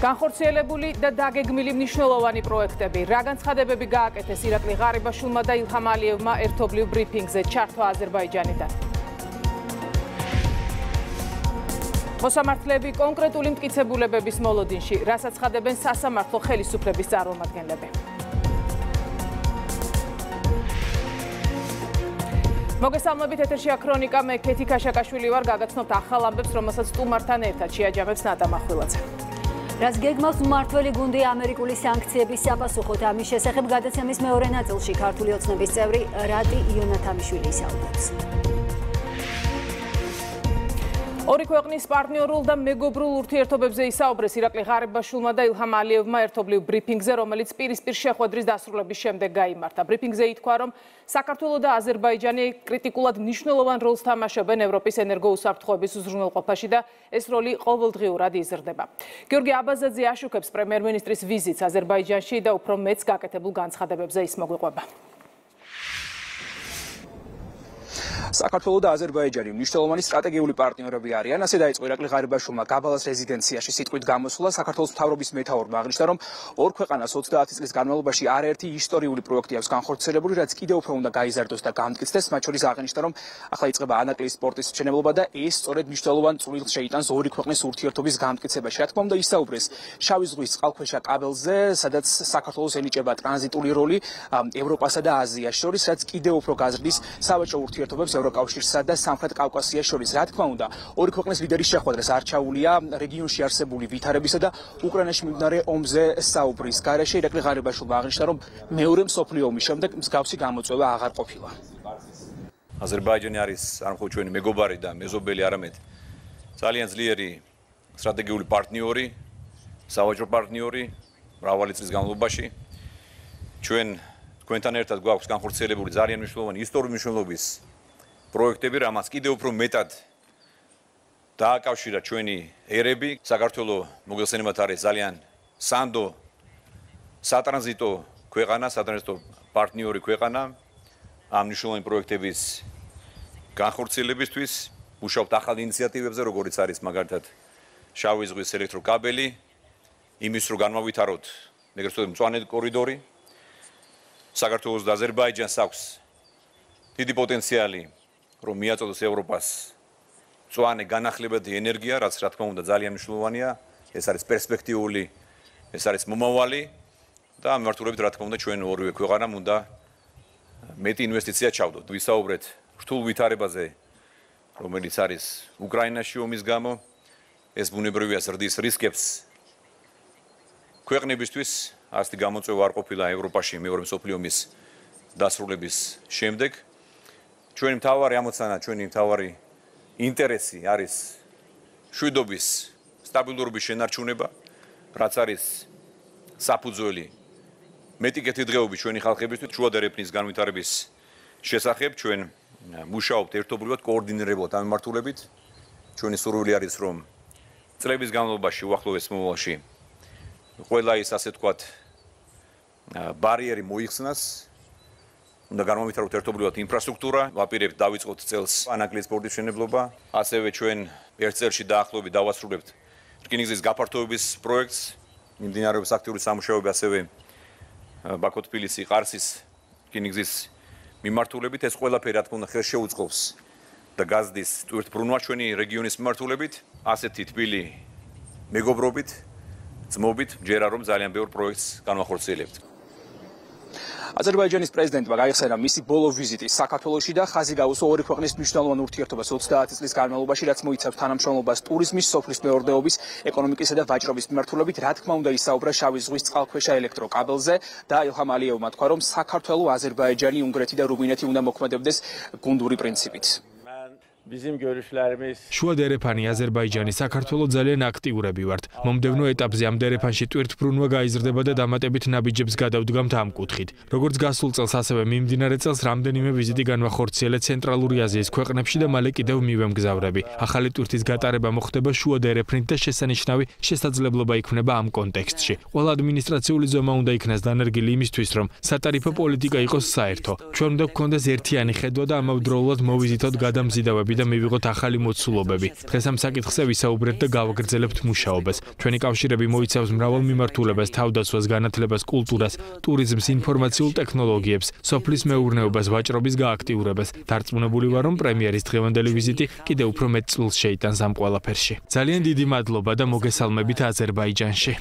განხორციელებული და დაგეგმილი მნიშვნელოვანი პროექტები. რა განცხადებები გააკეთეს ირაკლი ღარიბაშვილმა და ილჰამ ალიევმა ერთობლივ ბრიფინგზე ჩართვა აზერბაიჯანიდან. მოსამართლეები კონკრეტული მტკიცებულებების მოლოდინში, რასაც ხადებენ სასამართლო ხელისუფლების წარმომადგენლები. მოგესალმებით, ეთერშია ქრონიკა, მე ქეთი ქაშაკაშვილი ვარ, გაგაცნობთ ახალ ამბებს, რომელსაც სტუმართან ერთად შეაჯამებს ნატა მახვილაძე. რაც გეგმავს მმართველი გუნდი ამერიკული სანქციების საპასუხოდ, ამის შესახებ გადაცემის მეორე ნაწილში ქართული ოცნების წევრი რატი იონათამიშვილი ისაუბრებს. ორი ქვეყნის პარტნიორულ და მეგობრულ ურთიერთობებზე ისაუბრეს ირაკლი ღარიბაშვილმა და ილჰამ ალიევმა ერთობლივ ბრიფინგზე, რომელიც პირისპირ შეხვედრის დასრულების შემდეგ გაიმართა. ბრიფინგზე ითქვა, რომ საქართველო და აზერბაიჯანი კრიტიკულად მნიშვნელოვან როლს თამაშობენ ევროპის ენერგოუსაფრთხოების უზრუნველყოფაში და ეს როლი ყოველდღიურად იზრდება. გიორგი აბაზაძე აშუქებს პრემიერ-მინისტრის ვიზიტს აზერბაიჯანში და უფრო მეც გაკეთებულ განცხადებებზე ის მოგვიყვება. საქართველო და აზერბაიჯანი მნიშვნელოვანი სტრატეგიული პარტნიორები არიან. ასე დაიწყო ირაკლი ღარიბაშვილმა გაბალას რეზიდენციაში სიტყვით გამოსვლა. საქართველოს მთავრობის მეთაურმა აღნიშნა, რომ ორ ქვეყანას 30 წლის განმავლობაში არაერთი ისტორიული პროექტი აქვს განხორციელებული, რაც კიდევ უფრო უნდა გაიზარდოს და გამტკიცდეს. მათ შორის აღნიშნა, რომ ახლა იწყება ანაკლიის სპორტის მშენებლობა და ეს სწორედ მნიშვნელოვან წვლილს შეიტანს ორი ქვეყნის ურთიერთობის გამტკიცებაში. რა თქმა უნდა, ისაუბრეს შავი ზღვის წყალქვეშა კაბელზე, სადაც საქართველოს ენიჭება ტრანზიტული როლი ევროპასა და აზიაში შორის, რაც კიდევ უფრო გაზრდის სავაჭრო ურთიერთობებს ევროკავშირსა და სამხრეთ კავკასიას შორის. რა თქმა უნდა, ორი ქვეყნის ლიდერის შეხვედრას არჩეულია რეგიონში არსებული ვითარებისა და უკრაინაში მიმდინარე ომზე საუბრის გარეშე. ირაკლი ღარიბაშვილმა აღნიშნა, რომ მეორე მსოფლიო ომის შემდეგ მსგავსი გამოწვევა აღარ ყოფილა. აზერბაიჯანი არის არ მხოლოდ ჩვენი მეგობარი და მეზობელი, არამედ ძალიან ძლიერი სტრატეგიული პარტნიორი, სავაჭრო პარტნიორი მრავალი წლის განმავლობაში. ჩვენ თქვენთან ერთად გვაქვს განხორციელებული ძალიან მნიშვნელოვანი ისტორიული მნიშვნელობის პროექტები, რამაც კიდევ უფრო მეტად დააკავშირა ჩვენი ერები. საქართველოს მოგეხსენებათ არის ძალიან სანდო სატრანზიტო ქვეყანა, სატრანზიტო პარტნიორი ქვეყანა. ამ მნიშვნელოვანი პროექტების განხორციელებისთვის მუშაობთ ახალ ინიციატივებზე, როგორიც არის მაგალითად შავი ზღვის ელექტროკაბელი, იმის რომ განმავითაროთ ეგრეთ წოდებული მწვანე კორიდორი. საქართველოს და აზერბაიჯანს აქვს დიდი პოტენციალი, რომ მიაწოდოს ევროპას მწვანე განახლებადი ენერგია, რაც რა თქმა უნდა ძალიან მნიშვნელოვანია. ეს არის პერსპექტიული, ეს არის მომავალი და ამ მიმართულებით რა თქმა უნდა ჩვენ ორივე ქვეყანამ უნდა მეტი ინვესტიცია ჩავდოთ. ვისაუბრეთ რთულ ვითარებაზე, რომელიც არის უკრაინაში ომის გამო. ეს ბუნებრივია ზრდის რისკებს ქვეყნებისთვის. ასეთი გამოწვევა არ ყოფილა ევროპაში მეორე მსოფლიო ომის დასრულების შემდეგ. ჩვენი მთავარი ამოცანა, ჩვენი მთავარი ინტერესი არის მშვიდობის, სტაბილურობის შენარჩუნება, რაც არის საფუძველი მეტი კეთილდღეობის ჩვენი ხალხებისთვის, შუადერ ეფნის განვითარების შესახებ. ჩვენ მუშაობთ ერთობლივად, კოორდინირებულად ამ მიმართულებით. ჩვენი სურვილი არის, რომ წლების განმავლობაში, უახლოეს მომავალში ყველა ის ასე თქვათ ბარიერი მოიხსნას. უნდა განმოვიტაროთ ერთობლივად ინფრასტრუქტურა, ვაპირებთ დავიწყოთ წელს ანაკლიის სპორტის მშენებლობა. ასევე ჩვენ ერთ წელში დაახლოებით დავასრულებთ რკინიგზის გაფართოების პროექტს, მიმდინარეობს აქტიური სამუშაოები ასევე ბაქო-თბილისი ყარსის რკინიგზის მიმართულებით. ეს ყველაფერი რა თქმა უნდა ხელს შეუწყობს და გაზრდის ტვირთბრუნვა ჩვენი რეგიონის მიმართულებით. ასეთი თბილი მეგობრობით, ძმობით ჯერა რომ ძალიან ბევრ პროექტს განვახორციელებთ. აზერბაიჯანის პრეზიდენტმა გაიხსენა მისი ბოლო ვიზიტი საქართველოში და ხაზი გაუსვა ორი ქვეყნის მნიშვნელოვან ურთიერთობას 30 წლის განმავლობაში, რაც მოიცავს თანამშრომლობას ტურიზმის, სოფლის მეურნეობის, ეკონომიკისა და ვაჭრობის მიმართულებით. რა თქმა უნდა, ისაუბრა შავი ზღვის წყალქვეშა ელექტროკაბელზე და ილჰამ ალიევმა თქვა, რომ საქართველო, აზერბაიჯანი, უნგრეთი და რუმინეთი უნდა მოქმედებდეს გუნდური პრინციპით. შუა დერეფანი აზერბაიჯანი საქართველოს ძალიან აქტიურები ვართ. მომდევნო ეტაპზე ამ დერეფანში ტვირთბრუნვა გაიზრდება და დამატებით ნაბიჯებს გადავდგამთ ამ კუთხით. როგორც გასულ წელს, ასევე მიმდინარე წელს რამდენიმე ვიზიტი განვახორციელეთ ცენტრალური აზიის ქვეყნებში და მალე კიდევ მივემგზავრები. ახალი ტვირთის გატარება მოხდება შუა დერეფნით და შესანიშნავი შესაძლებლობა იქნება ამ კონტექსტში. ყველა ადმინისტრაციული ზომა უნდა იქნას დანერგილი იმისთვის, რომ სატარიფო პოლიტიკა იყოს საერთო. ჩვენ უნდა გვქონდეს ერთიანი ხედვა და ამავდროულად მოვიზიტოთ გადამზიდავები და მივიღოთ ახალი მოცულობები. დღეს ამ საკითხზე ვისაუბრეთ და გავაგრძელებთ მუშაობას. ჩვენი კავშირები მოიცავს მრავალ მიმართულებას, თავდაცვას, განათლებას, კულტურას, ტურიზმს, ინფორმაციულ ტექნოლოგიებს, სოფლის მეურნეობას, ვაჭრობის გააქტიურებას. დარწმუნებული ვარ, რომ პრემიერის დღევანდელი ვიზიტი კიდევ უფრო მეტ წვლილს შეიტანს ამ ყველაფერში. ძალიან დიდი მადლობა და მოგესალმებით აზერბაიჯანში.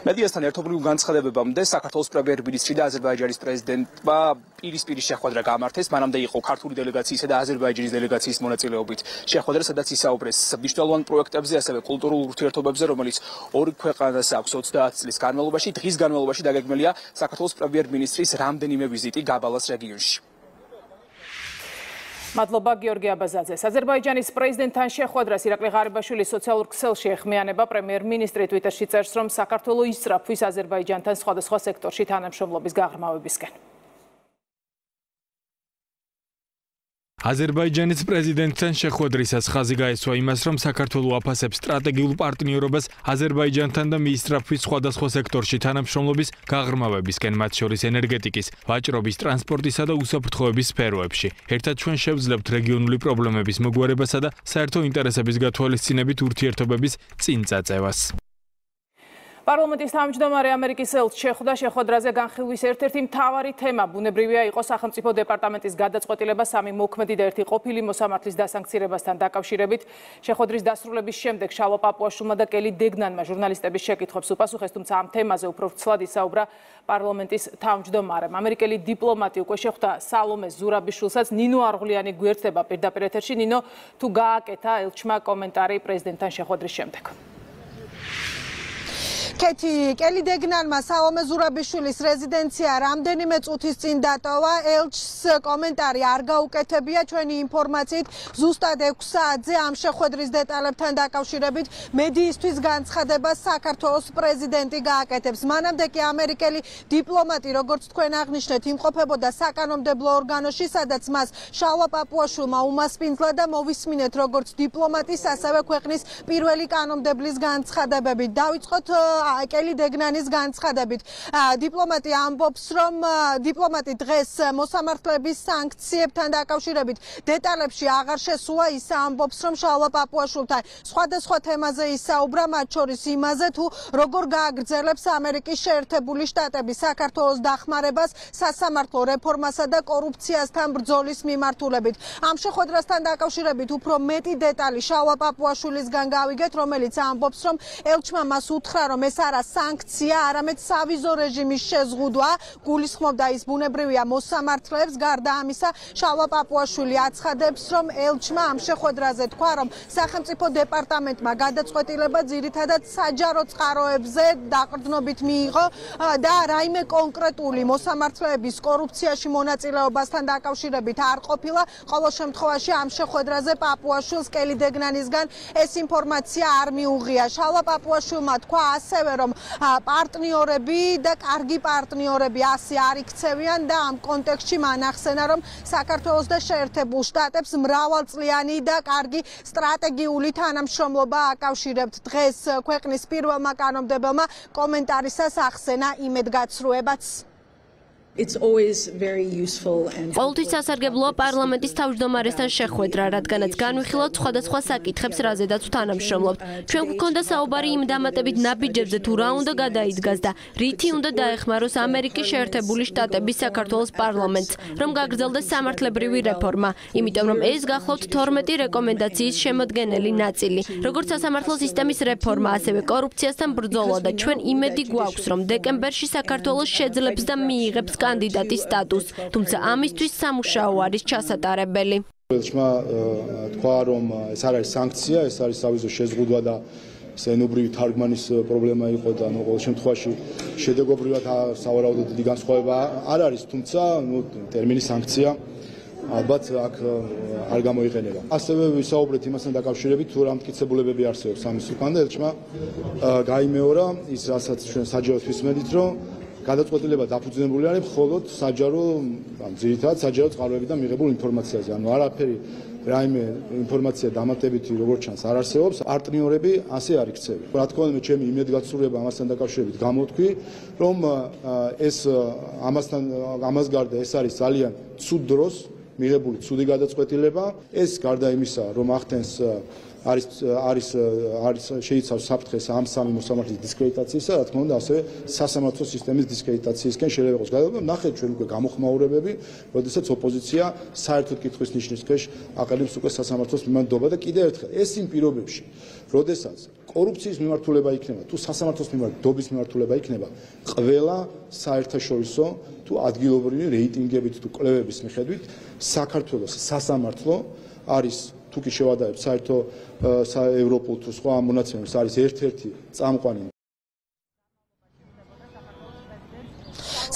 მედიასთან ერთობლივ განცხადებებამდე საქართველოს პრემიერ-მინისტრი და აზერბაიჯანის პრეზიდენტმა პირისპირი შეხვედრა გამართეს. მანამდე იყო ქართული დელეგაციისა და აზერბაიჯანის დელეგაციის მონაწილეობით შეხვედრა, სადაც ისაუბრეს მნიშვნელოვან პროექტებზე, ასევე კულტურულ ურთიერთობებზე, რომელიც ორი ქვეყანას აქვს 30 წლის განმავლობაში. დღის განმავლობაში დაგეგმილია საქართველოს პრემიერ-მინისტრის რამდენიმე ვიზიტი გაბალას რეგიონში. მადლობა გიორგი აბაზაძეს. აზერბაიჯანის პრეზიდენტთან შეხვედრას ირაკლი ღარიბაშვილის სოციალურ ქსელში ეხმიანება. პრემიერ-მინისტრი ტვიტერში წერს, რომ საქართველო ისწრაფვის აზერბაიჯანთან სხვადასხვა სექტორში თანამშრომლობის გაღრმავებისკენ. აზერბაიჯანის პრეზიდენტთან შეხვედრისას ხაზი გაესვა იმას, რომ საქართველო აფასებს სტრატეგიულ პარტნიორობას აზერბაიჯანთან და მიისწრაფვის სხვადასხვა სექტორში თანამშრომლობის გაღრმავებისკენ, მათ შორის ენერგეტიკის, ვაჭრობის, ტრანსპორტისა და უსაფრთხოების სფეროებში. ერთად ჩვენ შევძლებთ რეგიონული პრობლემების მოგვარებასა და საერთო ინტერესების გათვალისწინებით ურთიერთობების წინ წაწევას. პარლამენტის თავმჯდომარე ამერიკის ელჩი შეხვდა. შეხვედრაზე განხილვის ერთ-ერთი მთავარი თემა ბუნებრივია იყო სახელმწიფო დეპარტამენტის გადაწყვეტილება სამი მოქმედი და ერთი ყოფილი მოსამართლის დასანქცირებასთან დაკავშირებით. შეხვედრის დასრულების შემდეგ შალვა პაპუაშვილმა და კელი დეგნანმა ჟურნალისტების შეკითხვებს უპასუხეს, თუმცა ამ თემაზე უფრო ვრცლად ისაუბრა პარლამენტის თავმჯდომარემ. ამერიკელი დიპლომატი უკვე შეხვდა სალომე ზურაბიშვილსაც. ნინო არღლიანი გვერდება პირდაპირ ეთერში. ნინო, თუ გააკეთა ელჩმა კომენტარი პრეზიდენტთან შეხვედრის შემდეგ. კეთი კელი დეგნანმა სალომე ზურაბიშვილის რეზიდენცია რამდენიმე წუთის წინ დატოვა. ელჩს კომენტარი არ გაუკეთებია. ჩვენი ინფორმაციით ზუსტად 6 საათზე ამ შეხვედრის დეტალებთან დაკავშირებით მედიისთვის განცხადებას საქართველოს პრეზიდენტი გააკეთებს. მანამდე კი ამერიკელი დიპლომატი, როგორც თქვენ აღნიშნეთ, იმყოფებოდა საკანონმდებლო ორგანოში, სადაც მას შალვა პაპუაშვილმა უმასპინძლა და მოვისმინეთ როგორც დიპლომატის, ასევე ქვეყნის პირველი კანონმდებლის განცხადებებით. დავიწყოთ კელი დეგნანის განცხადებით. დიპლომატი ამბობს, რომ დიპლომატი დღეს მოსამართლეების სანქციებთან დაკავშირებით დეტალებში აღარ შესულა. ის ამბობს, რომ შალვა პაპუაშვილთან სხვადასხვა თემაზე ისაუბრა, მათ შორის იმაზე, თუ როგორ გააგრძელებს ამერიკის შეერთებული შტატები საქართველოს დახმარებას სასამართლო რეფორმასა და კორუფციასთან ბრძოლის მიმართულებით. ამ შეხვედრასთან დაკავშირებით უფრო მეტი დეტალი შალვა პაპუაშვილისგან გავიგეთ, რომელიც ამბობს, რომ ელჩმა მას უთხრა, რომ ეს არა სანქცია, არამედ სავიზო რეჟიმის შეზღუდვა. გულისხმობდა ის ბუნებრივია მოსამართლეებს. გარდა ამისა, შალვა პაპუაშვილი აცხადებს, რომ ელჩმა ამ შეხვედრაზე თქვა, რომ სახელმწიფო დეპარტამენტმა გადაწყვეტილება ძირითადად საჯარო წყაროებზე დაყრდნობით მიიღო და რაიმე კონკრეტული მოსამართლეების კორუფციაში მონაწილეობასთან დაკავშირებით არ ყოფილა. ყოველ შემთხვევაში ამ შეხვედრაზე პაპუაშვილს კელი დეგნანისგან ეს ინფორმაცია არ მიუღია. შალვა პაპუაშვილმა თქვა ასევე, რომ პარტნიორები და კარგი პარტნიორები ასე არ იქცევიან და ამ კონტექსტში მან ახსენა, რომ საქართველოს და შეერთებულ შტატებს მრავალწლიანი და კარგი სტრატეგიული თანამშრომლობა აკავშირებთ. დღეს ქვეყნის პირველმა კანონმდებელმა კომენტარისას ახსენა იმედგაცრუებაც. ყოველთვის სასარგებლოა პარლამენტის თავმჯდომარესთან შეხვედრა, რადგანაც განვიხილავთ სხვადასხვა საკითხებს, რაზედაც ვთანამშრომლობთ. ჩვენ გვქონდა საუბარი იმ დამატებით ნაბიჯებზე, თუ რა უნდა გადაიდგას და რითი უნდა დაეხმაროს ამერიკის შეერთებული შტატების საქართველოს პარლამენტს, რომ გაგრძელდეს სამართლებრივი რეფორმა, იმიტომ რომ ეს გახლავთ 12 რეკომენდაციის შემოდგენელი ნაწილი, როგორც სასამართლო სისტემის რეფორმა, ასევე კორუფციასთან ბრძოლა და ჩვენ იმედი გვაქვს, რომ დეკემბერში საქართველოს შეძლებს და მიიღებს კანდიდატის სტატუსს, თუმცა ამისთვის სამუშაო არის ჩასატარებელი. ელჩმა თქვა, რომ ეს არ არის სანქცია, ეს არის სავიზო შეზღუდვა და ენობრივი თარგმანის პრობლემა იყო და ყოველ შემთხვევაში შედეგობრივად სავარაუდოდ დიდი განსხვავება არ არის, თუმცა ტერმინი სანქცია ალბათ აქ არ გამოიყენება. ასევე ვისაუბრეთ იმასთან დაკავშირებით, თუ რა მტკიცებულებები არსებობს ამის უკან და ელჩმა გაიმეორა ის, რასაც ჩვენ საჯაროდ ვისმენთ, რომ გადაწყვეტილება დაფუძნებული არის მხოლოდ საჯარო, ძირითადად საჯარო წყაროებიდან მიღებულ ინფორმაციაზე. ანუ არაფერი რაიმე ინფორმაცია დამატებითი როგორც ჩანს არ არსებობს. პარტნიორები ასე არ იქცევი. რა თქმა უნდა, ჩემი იმედგაცრუება ამასთან დაკავშირებით გამოთქვი, რომ ეს ამას გარდა ეს არის ძალიან ცუდ დროს მიღებული ცუდი გადაწყვეტილება. ეს გარდა იმისა, რომ ახდენს არის შეიცავს საფრთხეს ამ სამი მოსამართლის დისკრედიტაციისა, რა თქმა უნდა, ასევე სასამართლო სისტემის დისკრედიტაციისკენ შეიძლება იყოს გადადგომა. ნახეთ ჩვენ უკვე გამოხმაურებები, როდესაც ოპოზიცია საერთოდ კითხვის ნიშნის ქვეშ აყალიბებს უკვე სასამართლოს მიმართულება და კიდევ ერთხელ ეს იმ პირობებში, როდესაც კორუფციის მიმართულება იქნება, თუ სასამართლოს მიმართულების მიმართულება იქნება, ყველა საერთაშორისო თუ ადგილობრივი რეიტინგებით თუ კვლევების მიხედვით საქართველოს სასამართლო არის თუ კი შევადარებ საერთო ევროპულ თუ სხვა მონაცემებს არის ერთ-ერთი წამყვანი.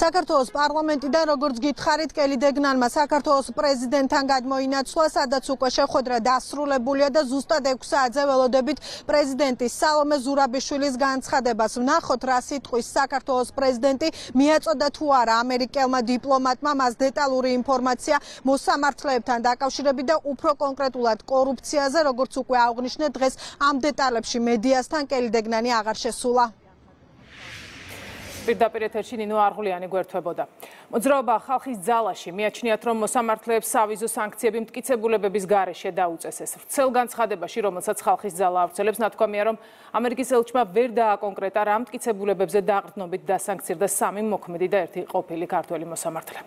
საქართველოს პარლამენტიდან როგორც გითხარით, კელი დეგნანმა საქართველოს პრეზიდენტთან გადმოინაცვლა, სადაც უკვე შეხვედრა დასრულებულია და ზუსტად 6 საათზე ველოდებით პრეზიდენტის სალომე ზურაბიშვილის განცხადებას. ვნახოთ, რა სიტყვის საქართველოს პრეზიდენტი მიაწოდა თუ არა ამერიკელმა დიპლომატმა, მას დეტალური ინფორმაცია მოსამართლეებთან დაკავშირებით და უფრო კონკრეტულად კორუფციაზე, როგორც უკვე აღნიშნეთ, დღეს ამ დეტალებში მედიასთან კელი დეგნანი აღარ შესულა. პირდაპირ ეთერში ნინო არღულიანი გვერდთვებოდა. მოძრაობა ხალხის ძალაში მიაჩნიათ, რომ მოსამართლეებს სავიზო სანქციები მტკიცებულებების გარეშე დაუწესეს. ვრცელ განცხადებაში, რომელსაც ხალხის ძალა ავრცელებს, ნათქვამია, რომ ამერიკის ელჩმა ვერ დააკონკრეტა რა მტკიცებულებებზე დაყრდნობით დასანქცირდა 3 მოქმედი და 1 ყოფილი ქართველი მოსამართლე.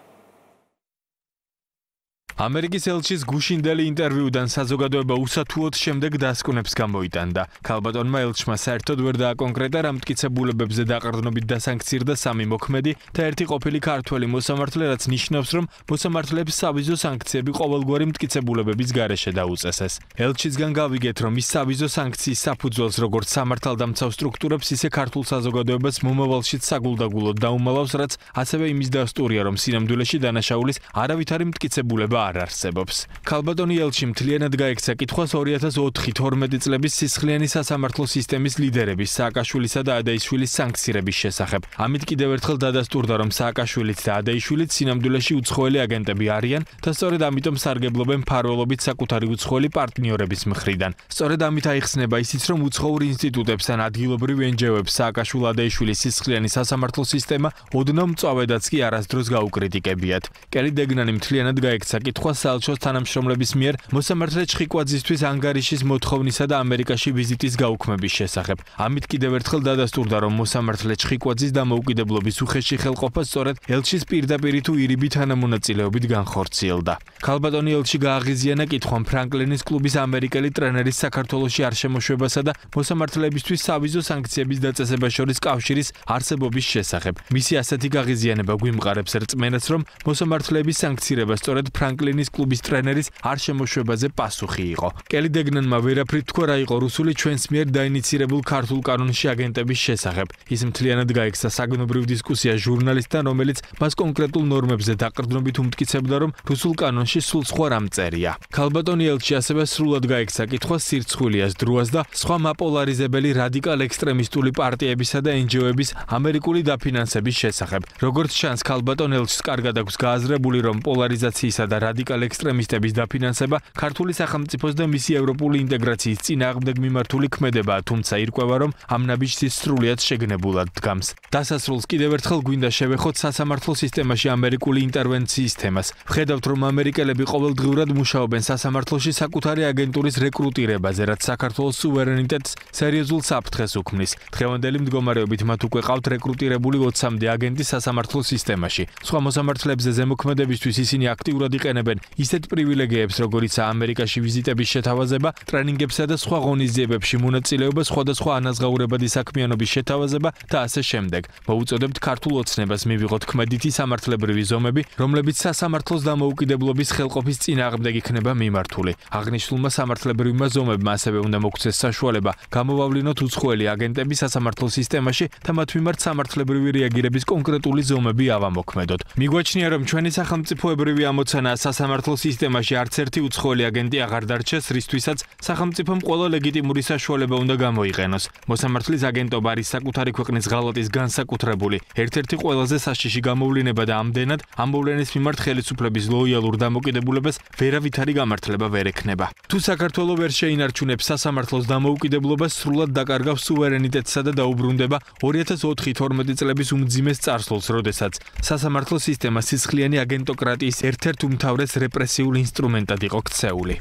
ამერიკის ელჩის გუშინდელი ინტერვიუდან საზოგადოება უსათუოდ შემდეგ დასკვნებს გამოიტანდა. ქალბატონმა ელჩმა საერთოდ ვერ დააკონკრეტა რა მტკიცებულებებზე დაყრდნობით დასანქცირდა 3 მოქმედი და 1 ყოფილი ქართველი მოსამართლე, რაც ნიშნავს, რომ მოსამართლეებს სავიზო სანქციები ყოველგვარი მტკიცებულებების გარეშე დაუწესეს. ელჩისგან გავიგეთ, რომ ის სავიზო სანქციის საფუძველს როგორც სამართალდამცავ სტრუქტურებს, ისე ქართულ საზოგადოებას მომავალშიც საგულდაგულოდ დაუმალავს, რაც ასევე იმის დასტურია, რომ სინამდვილეში დანაშაულის არავითარი მტკიცებულება არ არსებობს. ქალბატონი ელჩი მთლიანად გაექცა კითხვას 2004-12 წლების სისხლიანი სასამართლო სისტემის ლიდერების სააკაშვილისა და ადაიშვილის სანქცირების შესახებ. ამით კიდევ ერთხელ დადასტურდა, რომ სააკაშვილიც და ადაიშვილიც სინამდვილეში უცხოელი აგენტები არიან და სწორედ ამიტომ სარგებლობენ მფარველობით საკუთარი უცხოელი პარტნიორების მხრიდან. სწორედ ამით აიხსნება ისიც, რომ უცხოურ ინსტიტუტებს ან ადგილობრივ NGO-ებს სააკაშვილ-ადაიშვილის სისხლიანი სასამართლო სისტემა ოდნავ მწვავედაც კი არასდროს გაუკრიტიკებიათ. კელი დეგნანი მთლიანად გაექცა კითხვას საელჩოს თანამშრომლების მიერ მოსამართლე ჩხიკვაძისთვის ანგარიშის მოთხოვნისა და ამერიკაში ვიზიტის გაუქმების შესახებ. ამით კიდევ ერთხელ დადასტურდა, რომ მოსამართლე ჩხიკვაძის დამოუკიდებლობის უხეში ხელყოფა სწორედ ელჩის პირდაპირი თუ ირიბი თანამონაწილეობით განხორციელდა. ქალბატონი ელჩი გააღიზიანა კითხვამ ფრანკლინის კლუბის ამერიკელი ტრენერის საქართველოში არ შემოშვებასა და მოსამართლეებისთვის სავიზო სანქციების დაწესებას შორის კავშირის არსებობის შესახებ. მისი ასეთი გააღიზიანება გვიმყარებს რწმენას, რომ მოსამართლეების სანქცირება სწორედ ფრანკლინის კლუბის ტრენერის არ შემოშვებაზე პასუხი იყო. კელი დეგნანმა ვერაფრით თქვა რა იყო რუსული ჩვენს მიერ დაინიცირებულ ქართულ კანონში აგენტების შესახებ. ის მთლიანად გაექცა საგნობრივ დისკუსია ჟურნალისტთან, რომელიც მას კონკრეტულ ნორმებზე დაყრდნობით უმტკიცებდა, რომ რუსულ კანონში სულ სხვა რამ წერია. ქალბატონი ელჩი ასევე სრულად გაექცა კითხვას სირცხვილიას, დროას და სხვა მაპოლარიზებელი რადიკალ ექსტრემისტული პარტიებისა და NGO-ების ამერიკული დაფინანსების შესახებ. როგორც ჩანს, ქალბატონ ელჩს კარგად აქვს გააზრებული, რომ პოლარიზაციისა და რადიკალ ექსტრემისტების დაფინანსება ქართული სახელმწიფოს და მისი ევროპული ინტეგრაციის წინააღმდეგ მიმართული ქმედებაა, თუმცა ირკვევა, რომ ამ ნაბიჯს სრულიად შეგნებულად დგამს. დასასრულს კიდევ ერთხელ გვინდა შევეხოთ სასამართლო სისტემაში ამერიკული ინტერვენციის თემას. ვხედავთ, რომ ამერიკელები ყოველდღიურად მუშაობენ სასამართლოში საკუთარი აგენტურის რეკრუტირებაზე, რაც საქართველოს სუვერენიტეტს სერიოზულ საფრთხეს უქმნის. დღევანდელი მდგომარეობით მათ უკვე ყავთ რეკრუტირებული 20-მდე აგენტი სასამართლო სისტემაში. სხვა მოსამართლეებზე ზემოქმედებისთვის ისინი აქტიურად იყენებენ ისეთ პრივილეგიებს, როგორიცაა ამერიკაში ვიზიტების შეთავაზება, ტრენინგებსა და სხვა ღონისძიებებში მონაწილეობა, სხვადასხვა ანაზღაურებადი საქმიანობის შეთავაზება და ასე შემდეგ. მოუწოდებთ ქართულ ოცნებას მივიღოთ ქმედითი სამართლებრივი ზომები, რომლებიც სასამართლოს დამოუკიდებლობის ხელყოფის წინააღმდეგ იქნება მიმართული. აღნიშნულმა სამართლებრივმა ზომებმა ასევე უნდა მოგცეს საშუალება გამოვავლინოთ უცხოელი აგენტები სასამართლო სისტემაში და მათ მიმართ სამართლებრივი რეაგირების კონკრეტული ზომები ავამოქმედოთ. მიგვაჩნია, რომ ჩვენი სახელმწიფოებრივი ამოცანა სასამართლო სისტემაში არც ერთი უცხოელი აგენტი აღარ დარჩეს, რისთვისაც სახელმწიფომ ყველა ლეგიტიმური საშუალება უნდა გამოიყენოს. მოსამართლის აგენტობა არის საკუთარი ქვეყნის ღალატის განსაკუთრებული, ერთ-ერთი ყველაზე საშიში გამოვლინება და ამდენად ამ მოვლენის მიმართ ხელისუფლების ლოიალურ დამოკიდებულებას ვერავითარი გამართლება ვერ ექნება. თუ საქართველო ვერ შეინარჩუნებს სასამართლოს დამოუკიდებლობას, სრულად დაკარგავს სუვერენიტეტსა და დაუბრუნდება 2004-12 წლების უმძიმეს წარსულს, როდესაც სასამართლო სისტემა სისხლიანი აგენტოკრატიის ერთ-ერთ უმთავრეს უმთავრეს რეპრესიულ ინსტრუმენტად იყო ქცეული.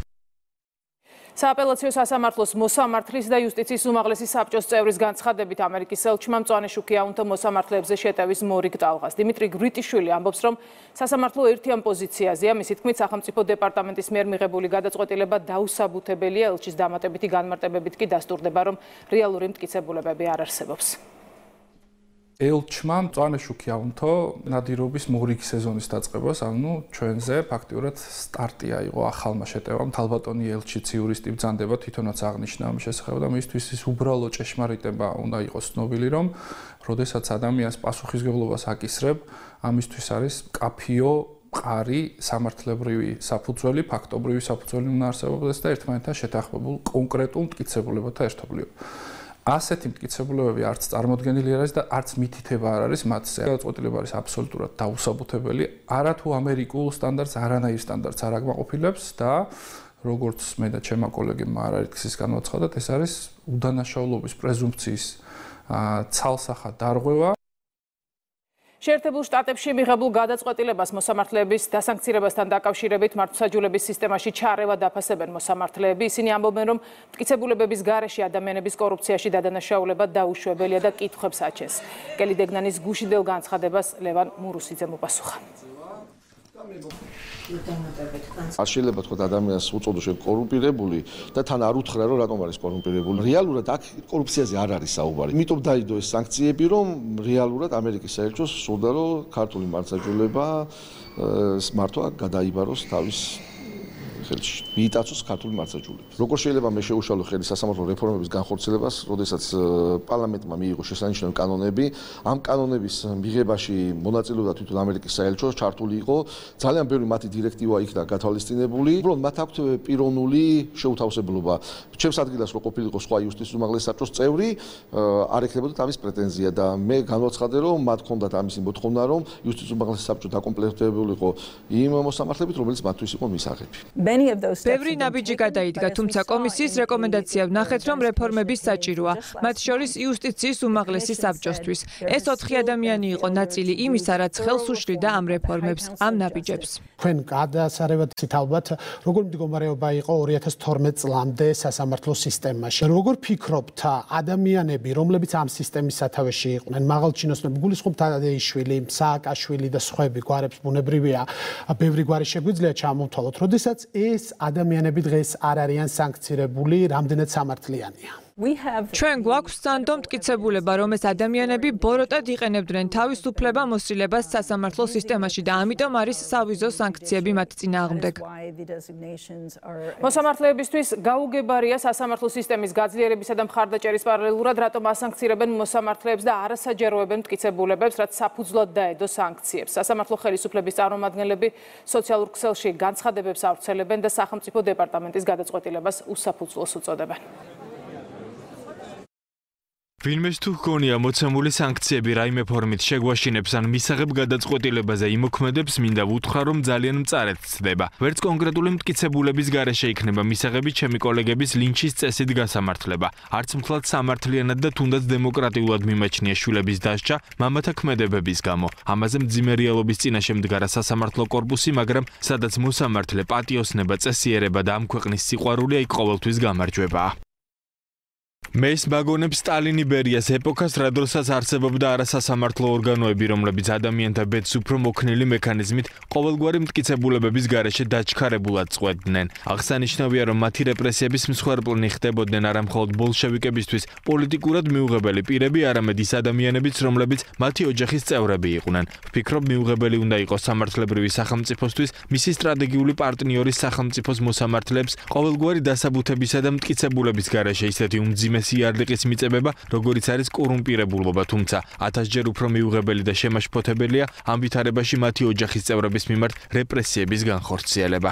სააპელაციო სასამართლოს მოსამართლის და იუსტიციის უმაღლესი საბჭოს წევრის განცხადებით ამერიკის ელჩმა მწვანე შუქი აუნთო მოსამართლეებზე შეტევის მორიგ ტალღას. დიმიტრი გვრიტიშვილი ამბობს, რომ სასამართლო ერთიან პოზიციაზეა, მისი თქმით, სახელმწიფო დეპარტამენტის მიერ მიღებული გადაწყვეტილება დაუსაბუთებელია, ელჩის დამატებითი განმარტებებით კი დასტურდება, რომ რეალური მტკიცებულებები არ არსებობს. ელჩმა მწვანე შუქი აუნთო ნადირობის მორიგი სეზონის დაწყებას, ანუ ჩვენზე ფაქტიურად სტარტი აიღო ახალმა შეტევამ. თალბატონი ელჩიც იურისტი ბრძანდება თვითონაც აღნიშნა ამ შესახებ და მისთვის ის უბრალო ჭეშმარიტება უნდა იყოს ცნობილი, რომ როდესაც ადამიანს პასუხისმგებლობას აკისრებ, ამისთვის არის კაფიო მყარი სამართლებრივი საფუძველი, ფაქტობრივი საფუძველი უნდა არსებობდეს და ერთმანეთთან შეთანხმებულ კონკრეტულ მტკიცებულებათა ერთობლიობა. ასეთი მტკიცებულებები არც წარმოდგენილი არ არის და არც მითითება არ არის მათზე. გადაწყვეტილება არის აბსოლუტურად დაუსაბუთებელი, არათუ ამერიკულ სტანდარტს, არანაირ სტანდარტს არ აკმაყოფილებს და როგორც მე და ჩემმა კოლეგებმა არაერთგზის განვაცხადეთ, ეს არის უდანაშაულობის პრეზუმფციის ცალსახად დარღვევა. შეერთებულ შტატებში მიღებულ გადაწყვეტილებას მოსამართლეების დასანქცირებასთან დაკავშირებით მართლმსაჯულების სისტემაში ჩარევა დაფასებენ მოსამართლეები. ისინი ამბობენ, რომ მტკიცებულებების გარეშე ადამიანების კორუფციაში დადანაშაულება დაუშვებელია და კითხვებს აჩენს. კელი დეგნანის გუშინდელ განცხადებას ლევან მურუსიძემ უპასუხა. არ შეიძლება თქვა ადამიანს უწოდო შენ კორუმპირებული და თან არ უთხრა რომ რატომ არის კორუმპირებული. რეალურად აქ კორუფციაზე არ არის საუბარი. იმიტომ დაიდო ეს სანქციები, რომ რეალურად ამერიკის საელჩოს სურდა რომ ქართული მართლმსაჯულება მართვა გადაიბაროს თავის ხელში. მიიტაცოს ქართული მართლმსაჯულება. როგორ შეიძლება მე შეუშალო ხელი სასამართლო რეფორმების განხორციელებას, როდესაც პარლამენტმა მიიღო შესანიშნავი კანონები, ამ კანონების მიღებაში მონაწილეობდა თვითონ ამერიკის საელჩო, ჩართული იყო ძალიან ბევრი მათი დირექტივა იქნა გათვალისწინებული. უბრალოდ მათ აქვთ პიროვნული შეუთავსებლობა. ჩემს ადგილას რო ყოფილიყო სხვა იუსტიციის უმაღლესი საბჭოს წევრი, არ ექნებოდათ ამის პრეტენზია და მე განვაცხადე, რომ მათ ჰქონდათ ამისი მოთხოვნა, რომ იუსტიციის უმაღლესი საბჭო დაკომპლექტებულიყო იმ მოსამართლებით, რომელიც მათთვის იყო მისაღები. ბევრი ნაბიჯი გადაიდგა, თუმცა კომისიის რეკომენდაცია ვნახეთ, რომ რეფორმების საჭიროა, მათ შორის იუსტიციის უმაღლესი საბჭოსთვის. ეს 4 ადამიანი იყო ნაწილი იმისა, რაც ხელს უშლიდა ამ რეფორმებს, ამ ნაბიჯებს. თქვენ გადასარევად ალბათ, როგორ მდგომარეობა იყო 2012 წლამდე სასამართლო სისტემაში. როგორ ფიქრობთ, ადამიანები, რომლებიც ამ სისტემის სათავეში იყვნენ, მაღალჩინოსნები, გულისხმობთ ადეიშვილი, სააკაშვილი და სხვები, გვარებს ბუნებრივია, ბევრი გვარი შეგვიძლია ჩამოვთვალოთ, როდესაც ეს ადამიანები დღეს არ არიან სანქცირებული, რამდენად სამართლიანია. ჩვენ გვაქვს სანდო მტკიცებულება, რომ ეს ადამიანები ბოროტად იყენებდნენ თავისუფლება მოსილებას სასამართლო სისტემაში და ამიტომ არის სავიზო სანქციები მათ წინააღმდეგ. მოსამართლეებისთვის გაუგებარია სასამართლო სისტემის გაძლიერებისა და მხარდაჭერის პარალელურად, რატომ ასანქცირებენ მოსამართლეებს და არასაჯაროებენ მტკიცებულებებს, რაც საფუძვლად დაედო სანქციებს. სასამართლო ხელისუფლების წარმომადგენლები სოციალურ ქსელში განცხადებებს ავრცელებენ და სახელმწიფო დეპარტამენტის გადაწყვეტილებას უსაფუძვლოს უწოდებენ. ვინმეს თუ ჰგონია მოცემული სანქციები რაიმე ფორმით შეგვაშინებს ან მისაღებ გადაწყვეტილებაზე იმოქმედებს, მინდა ვუთხრა, რომ ძალიან მწარედ ცდება. ვერც კონკრეტული მტკიცებულების გარეშე იქნება მისაღები ჩემი კოლეგების ლინჩის წესით გასამართლება. არც მთლად სამართლიანად და თუნდაც დემოკრატიულად მიმაჩნია შვილების დასჯა მამათა ქმედებების გამო. ამაზე მძიმე რეალობის წინაშე მდგარა სასამართლო კორპუსი, მაგრამ სადაც მოსამართლე, პატიოსნება, წესიერება და ამ ქვეყნის სიყვარული იქ ყოველთვის გამარჯვებაა. მე ის მაგონებს სტალინი ბერიას ეპოქას, რა დროსაც არსებობდა არასასამართლო ორგანოები, რომლებიც ადამიანთა ბედს უფრო მოქნილი მექანიზმით ყოველგვარი მტკიცებულებების გარეშე დაჩქარებულად წყვეტდნენ. აღსანიშნავია, რომ მათი რეპრესიების მსხვერპლნი ხდებოდნენ არა მხოლოდ ბოლშევიკებისთვის პოლიტიკურად მიუღებელი პირები, არამედ ის ადამიანებიც, რომლებიც მათი ოჯახის წევრები იყვნენ. ვფიქრობ, მიუღებელი უნდა იყოს სამართლებრივი სახელმწიფოსთვის მისი სტრატეგიული პარტნიორის სახელმწიფოს მოსამართლეებს ყოველგვარი დასაბუთებისა და მტკიცებულების გარეშე ისეთი უმძიმე სიარლიყის მიწებება, როგორიც არის კორუმპირებულობა, თუმცა 1000-ჯერ უფრო მიუღებელი და შემაშფოთებელია ამ ვითარებაში მათი ოჯახის წევრების მიმართ რეპრესიების განხორციელება.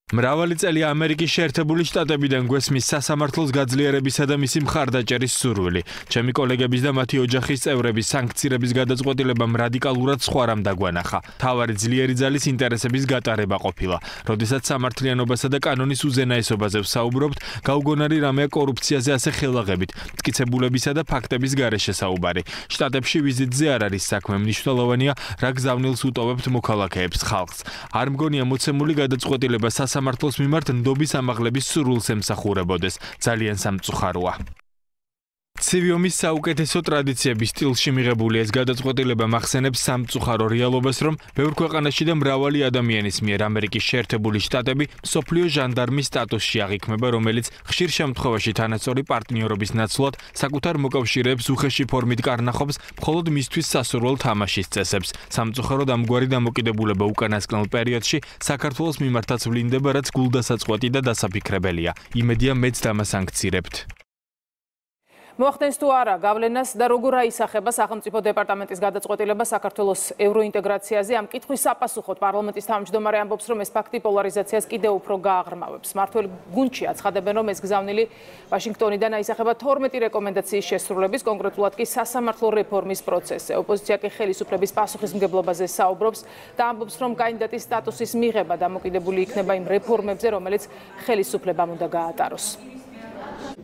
მრავალი წელია ამერიკის შეერთებული შტატებიდან გვესმის სასამართლოს გაძლიერებისა და მისი მხარდაჭერის სურვილი. ჩემი კოლეგების და მათი ოჯახის წევრების სანქციების გადაწყვეტილებამ რადიკალურად სხვა რამ დაგვანახა. თავარი ძლიერი ძალის ინტერესების გატარება ყოფილა. როდესაც სამართლიანობასა და კანონის უზენაესობაზე ვსაუბრობთ, გაუგონარი რამეა კორუფციაზე ასე ხელაღებით, მტკიცებულებისა და ფაქტების გარეშე საუბარი. შტატებში ვიზიტზე არ არის საქმე, მნიშვნელოვანია, რა გზავნილს უტოვებთ მოქალაქეებს, ხალხს. არ მგონია მოცემული გადაწყვეტილება სამართლოს მიმართ ნდობის ამაღლების სურვილს ემსახურებოდეს. ძალიან სამწუხაროა. ცივი ომის საუკეთესო ტრადიციების სტილში მიღებული ეს გადაწყვეტილება მახსენებს სამწუხარო რეალობას, რომ ბევრ ქვეყანაში და მრავალი ადამიანის მიერ ამერიკის შეერთებული შტატები მსოფლიო ჟანდარმის სტატუსში აღიქმება, რომელიც ხშირ შემთხვევაში თანასწორი პარტნიორობის ნაცვლად საკუთარ მოკავშირეებს უხეში ფორმით კარნახობს მხოლოდ მისთვის სასურველ თამაშის წესებს. სამწუხაროდ ამგვარი დამოკიდებულება უკანასკნელ პერიოდში საქართველოს მიმართაც ვლინდება, რაც გულდასაწყვეტი და დასაფიქრებელია. იმედია მეც დამასანქცირებთ. მოახდენს თუ არა გავლენას და როგორ აისახება სახელმწიფო დეპარტამენტის გადაწყვეტილება საქართველოს ევროინტეგრაციაზე? ამ კითხვის საპასუხოდ პარლამენტის თავმჯდომარე ამბობს, რომ ეს ფაქტი პოლარიზაციას კიდევ უფრო გააღრმავებს. მმართველი გუნდში აცხადებენ, რომ ეს გზავნილი ვაშინგტონიდან აისახება 12 რეკომენდაციის შესრულების, კონკრეტულად კი სასამართლო რეფორმის პროცესზე. ოპოზიცია კი ხელისუფლების პასუხისმგებლობაზე საუბრობს და ამბობს, რომ კანდიდატის სტატუსის მიღება დამოკიდებული იქნება იმ რეფორმებზე, რომელიც ხელისუფლებამ უნდა გაატაროს.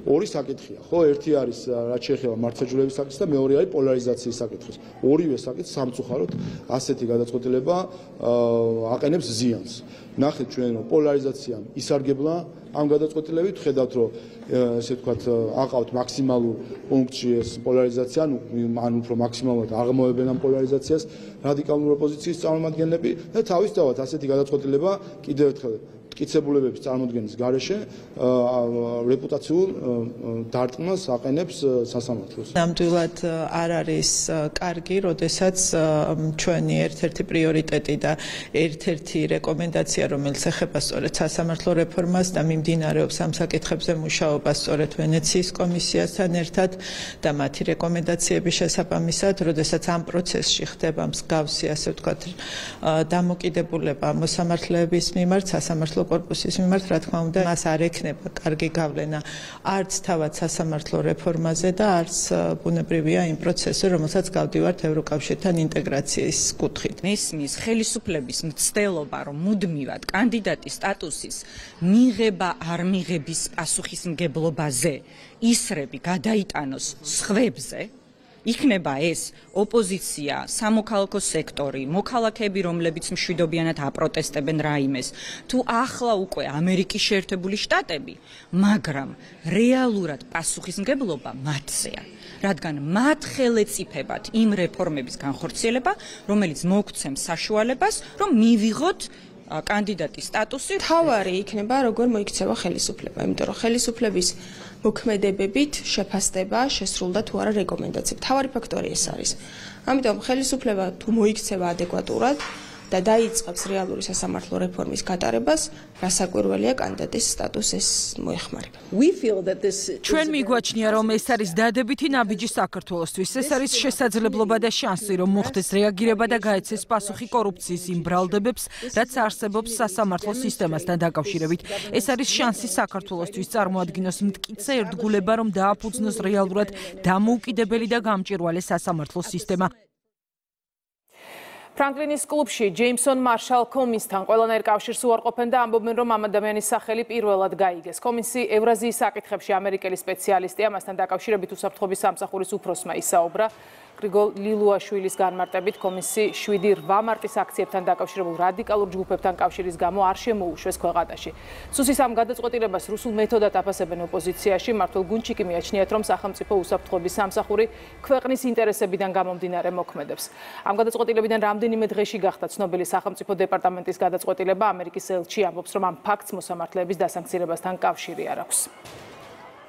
ორი საკითხია, ხო, ერთი არის რაც შეეხება მართლმსაჯულების საკითხს და მეორე არის პოლარიზაციის საკითხს. ორივე საკითხს სამწუხაროდ ასეთი გადაწყვეტილება აყენებს ზიანს. ნახეთ ჩვენ რომ პოლარიზაციამ ისარგებლა ამ გადაწყვეტილებით, ხედავთ რომ ესე ვთქვათ აყავთ მაქსიმალურ პუნქტში ეს პოლარიზაცია, ან უფრო მაქსიმალურად აღმოებენ ამ პოლარიზაციას რადიკალური ოპოზიციის წარმომადგენლები და თავისთავად ასეთი გადაწყვეტილება კიდევ ერთხელ მტკიცებულებების წარმოქმნის გარეშე რეპუტაციულ დარტყმას აყენებს სასამართლოს. ნამდვილად არ არის კარგი, როდესაც ჩვენი ერთ-ერთი პრიორიტეტი და ერთ-ერთი რეკომენდაცია, რომელიც ეხება სწორედ სასამართლო რეფორმას და მიმდინარეობს ამ საკითხებზე მუშაობა სწორედ ვენეციის კომისიასთან ერთად და მათი რეკომენდაციების შესაბამისად, როდესაც ამ პროცესში ხდება მსგავსი, ასე ვთქვათ, დამოკიდებულება მოსამართლეების მიმართ, სასამართლო კორპუსის მიმართ, რა თქმა უნდა, მას არ ექნება კარგი გავლენა არც თავად სასამართლო რეფორმაზე და არც ბუნებრივია იმ პროცესზე, რომელსაც გავდივართ ევროკავშირთან ინტეგრაციის კუთხით. მესმის ხელისუფლების მცდელობა, რომ მუდმივად კანდიდატის სტატუსის მიღება არ მიღების პასუხისმგებლობაზე ისრები გადაიტანოს სხვებზე, იქნება ეს ოპოზიცია, სამოქალაქო სექტორი, მოქალაქეები, რომლებიც მშვიდობიანად აპროტესტებენ რაიმეს, თუ ახლა უკვე ამერიკის შეერთებული შტატები, მაგრამ რეალურად პასუხისმგებლობა მათზეა, რადგან მათ ხელეწიფებათ იმ რეფორმების განხორციელება, რომელიც მოგცემს საშუალებას, რომ მივიღოთ კანდიდატის სტატუსი. თავარი იქნება როგორ მოიქცევა ხელისუფლება, იმიტომ რომ ხელისუფლების მოქმედებებით შეფასდება შესრულდა თუ არა რეკომენდაციები. თავარი ფაქტორი ეს არის. ამიტომ ხელისუფლება თუ მოიქცევა ადეკვატურად და დაიწყებს რეალური სასამართლო რეფორმის გატარებას, რასაკვირველია კანდიდატის სტატუსის მოეხმარება. ჩვენ მიგვაჩნია, რომ ეს არის დადებითი ნაბიჯი საქართველოსთვის. ეს არის შესაძლებლობა და შანსი, რომ მოხდეს რეაგირება და გაეცეს პასუხი კორუფციის იმ ბრალდებებს, რაც არსებობს სასამართლო სისტემასთან დაკავშირებით. ეს არის შანსი საქართველოსთვის წარმოადგინოს მტკიცე ერთგულება, რომ დააფუძნოს რეალურად დამოუკიდებელი და გამჭვირვალე სასამართლო სისტემა. ფრანკლინის კლუბში ჯეიმსონ მარშალ კომისთან ყველანაირ კავშირს უარყოფენ და ამბობენ, რომ ამ ადამიანის სახელი პირველად გაიგეს. კომისი ევრაზიის საკითხებში ამერიკელი სპეციალისტია, მასთან დაკავშირებით უსაფრთხოების სამსახურის უფროსმა ისაუბრა. გრიგოლ ლილუაშვილის განმარტებით, კომისი 7-8 მარტის აქციებთან დაკავშირებულ რადიკალურ ჯგუფებთან კავშირის გამო არ შემოუშვეს ქვეყანაში. სუსის ამ გადაწყვეტილებას რუსულ მეთოდად აფასებენ ოპოზიციაში. მმართველ გუნდში კი მიაჩნიათ, რომ სახელმწიფო უსაფრთხოების სამსახური ქვეყნის ინტერესებიდან გამომდინარე მოქმედებს. ამ გადაწყვეტილებიდან რამდენიმე დღეში გახდა ცნობილი სახელმწიფო დეპარტამენტის გადაწყვეტილება. ამერიკის ელჩი ამბობს, რომ ამ ფაქტს მოსამართლეების დასანქცირებასთან კავშირი არ აქვს.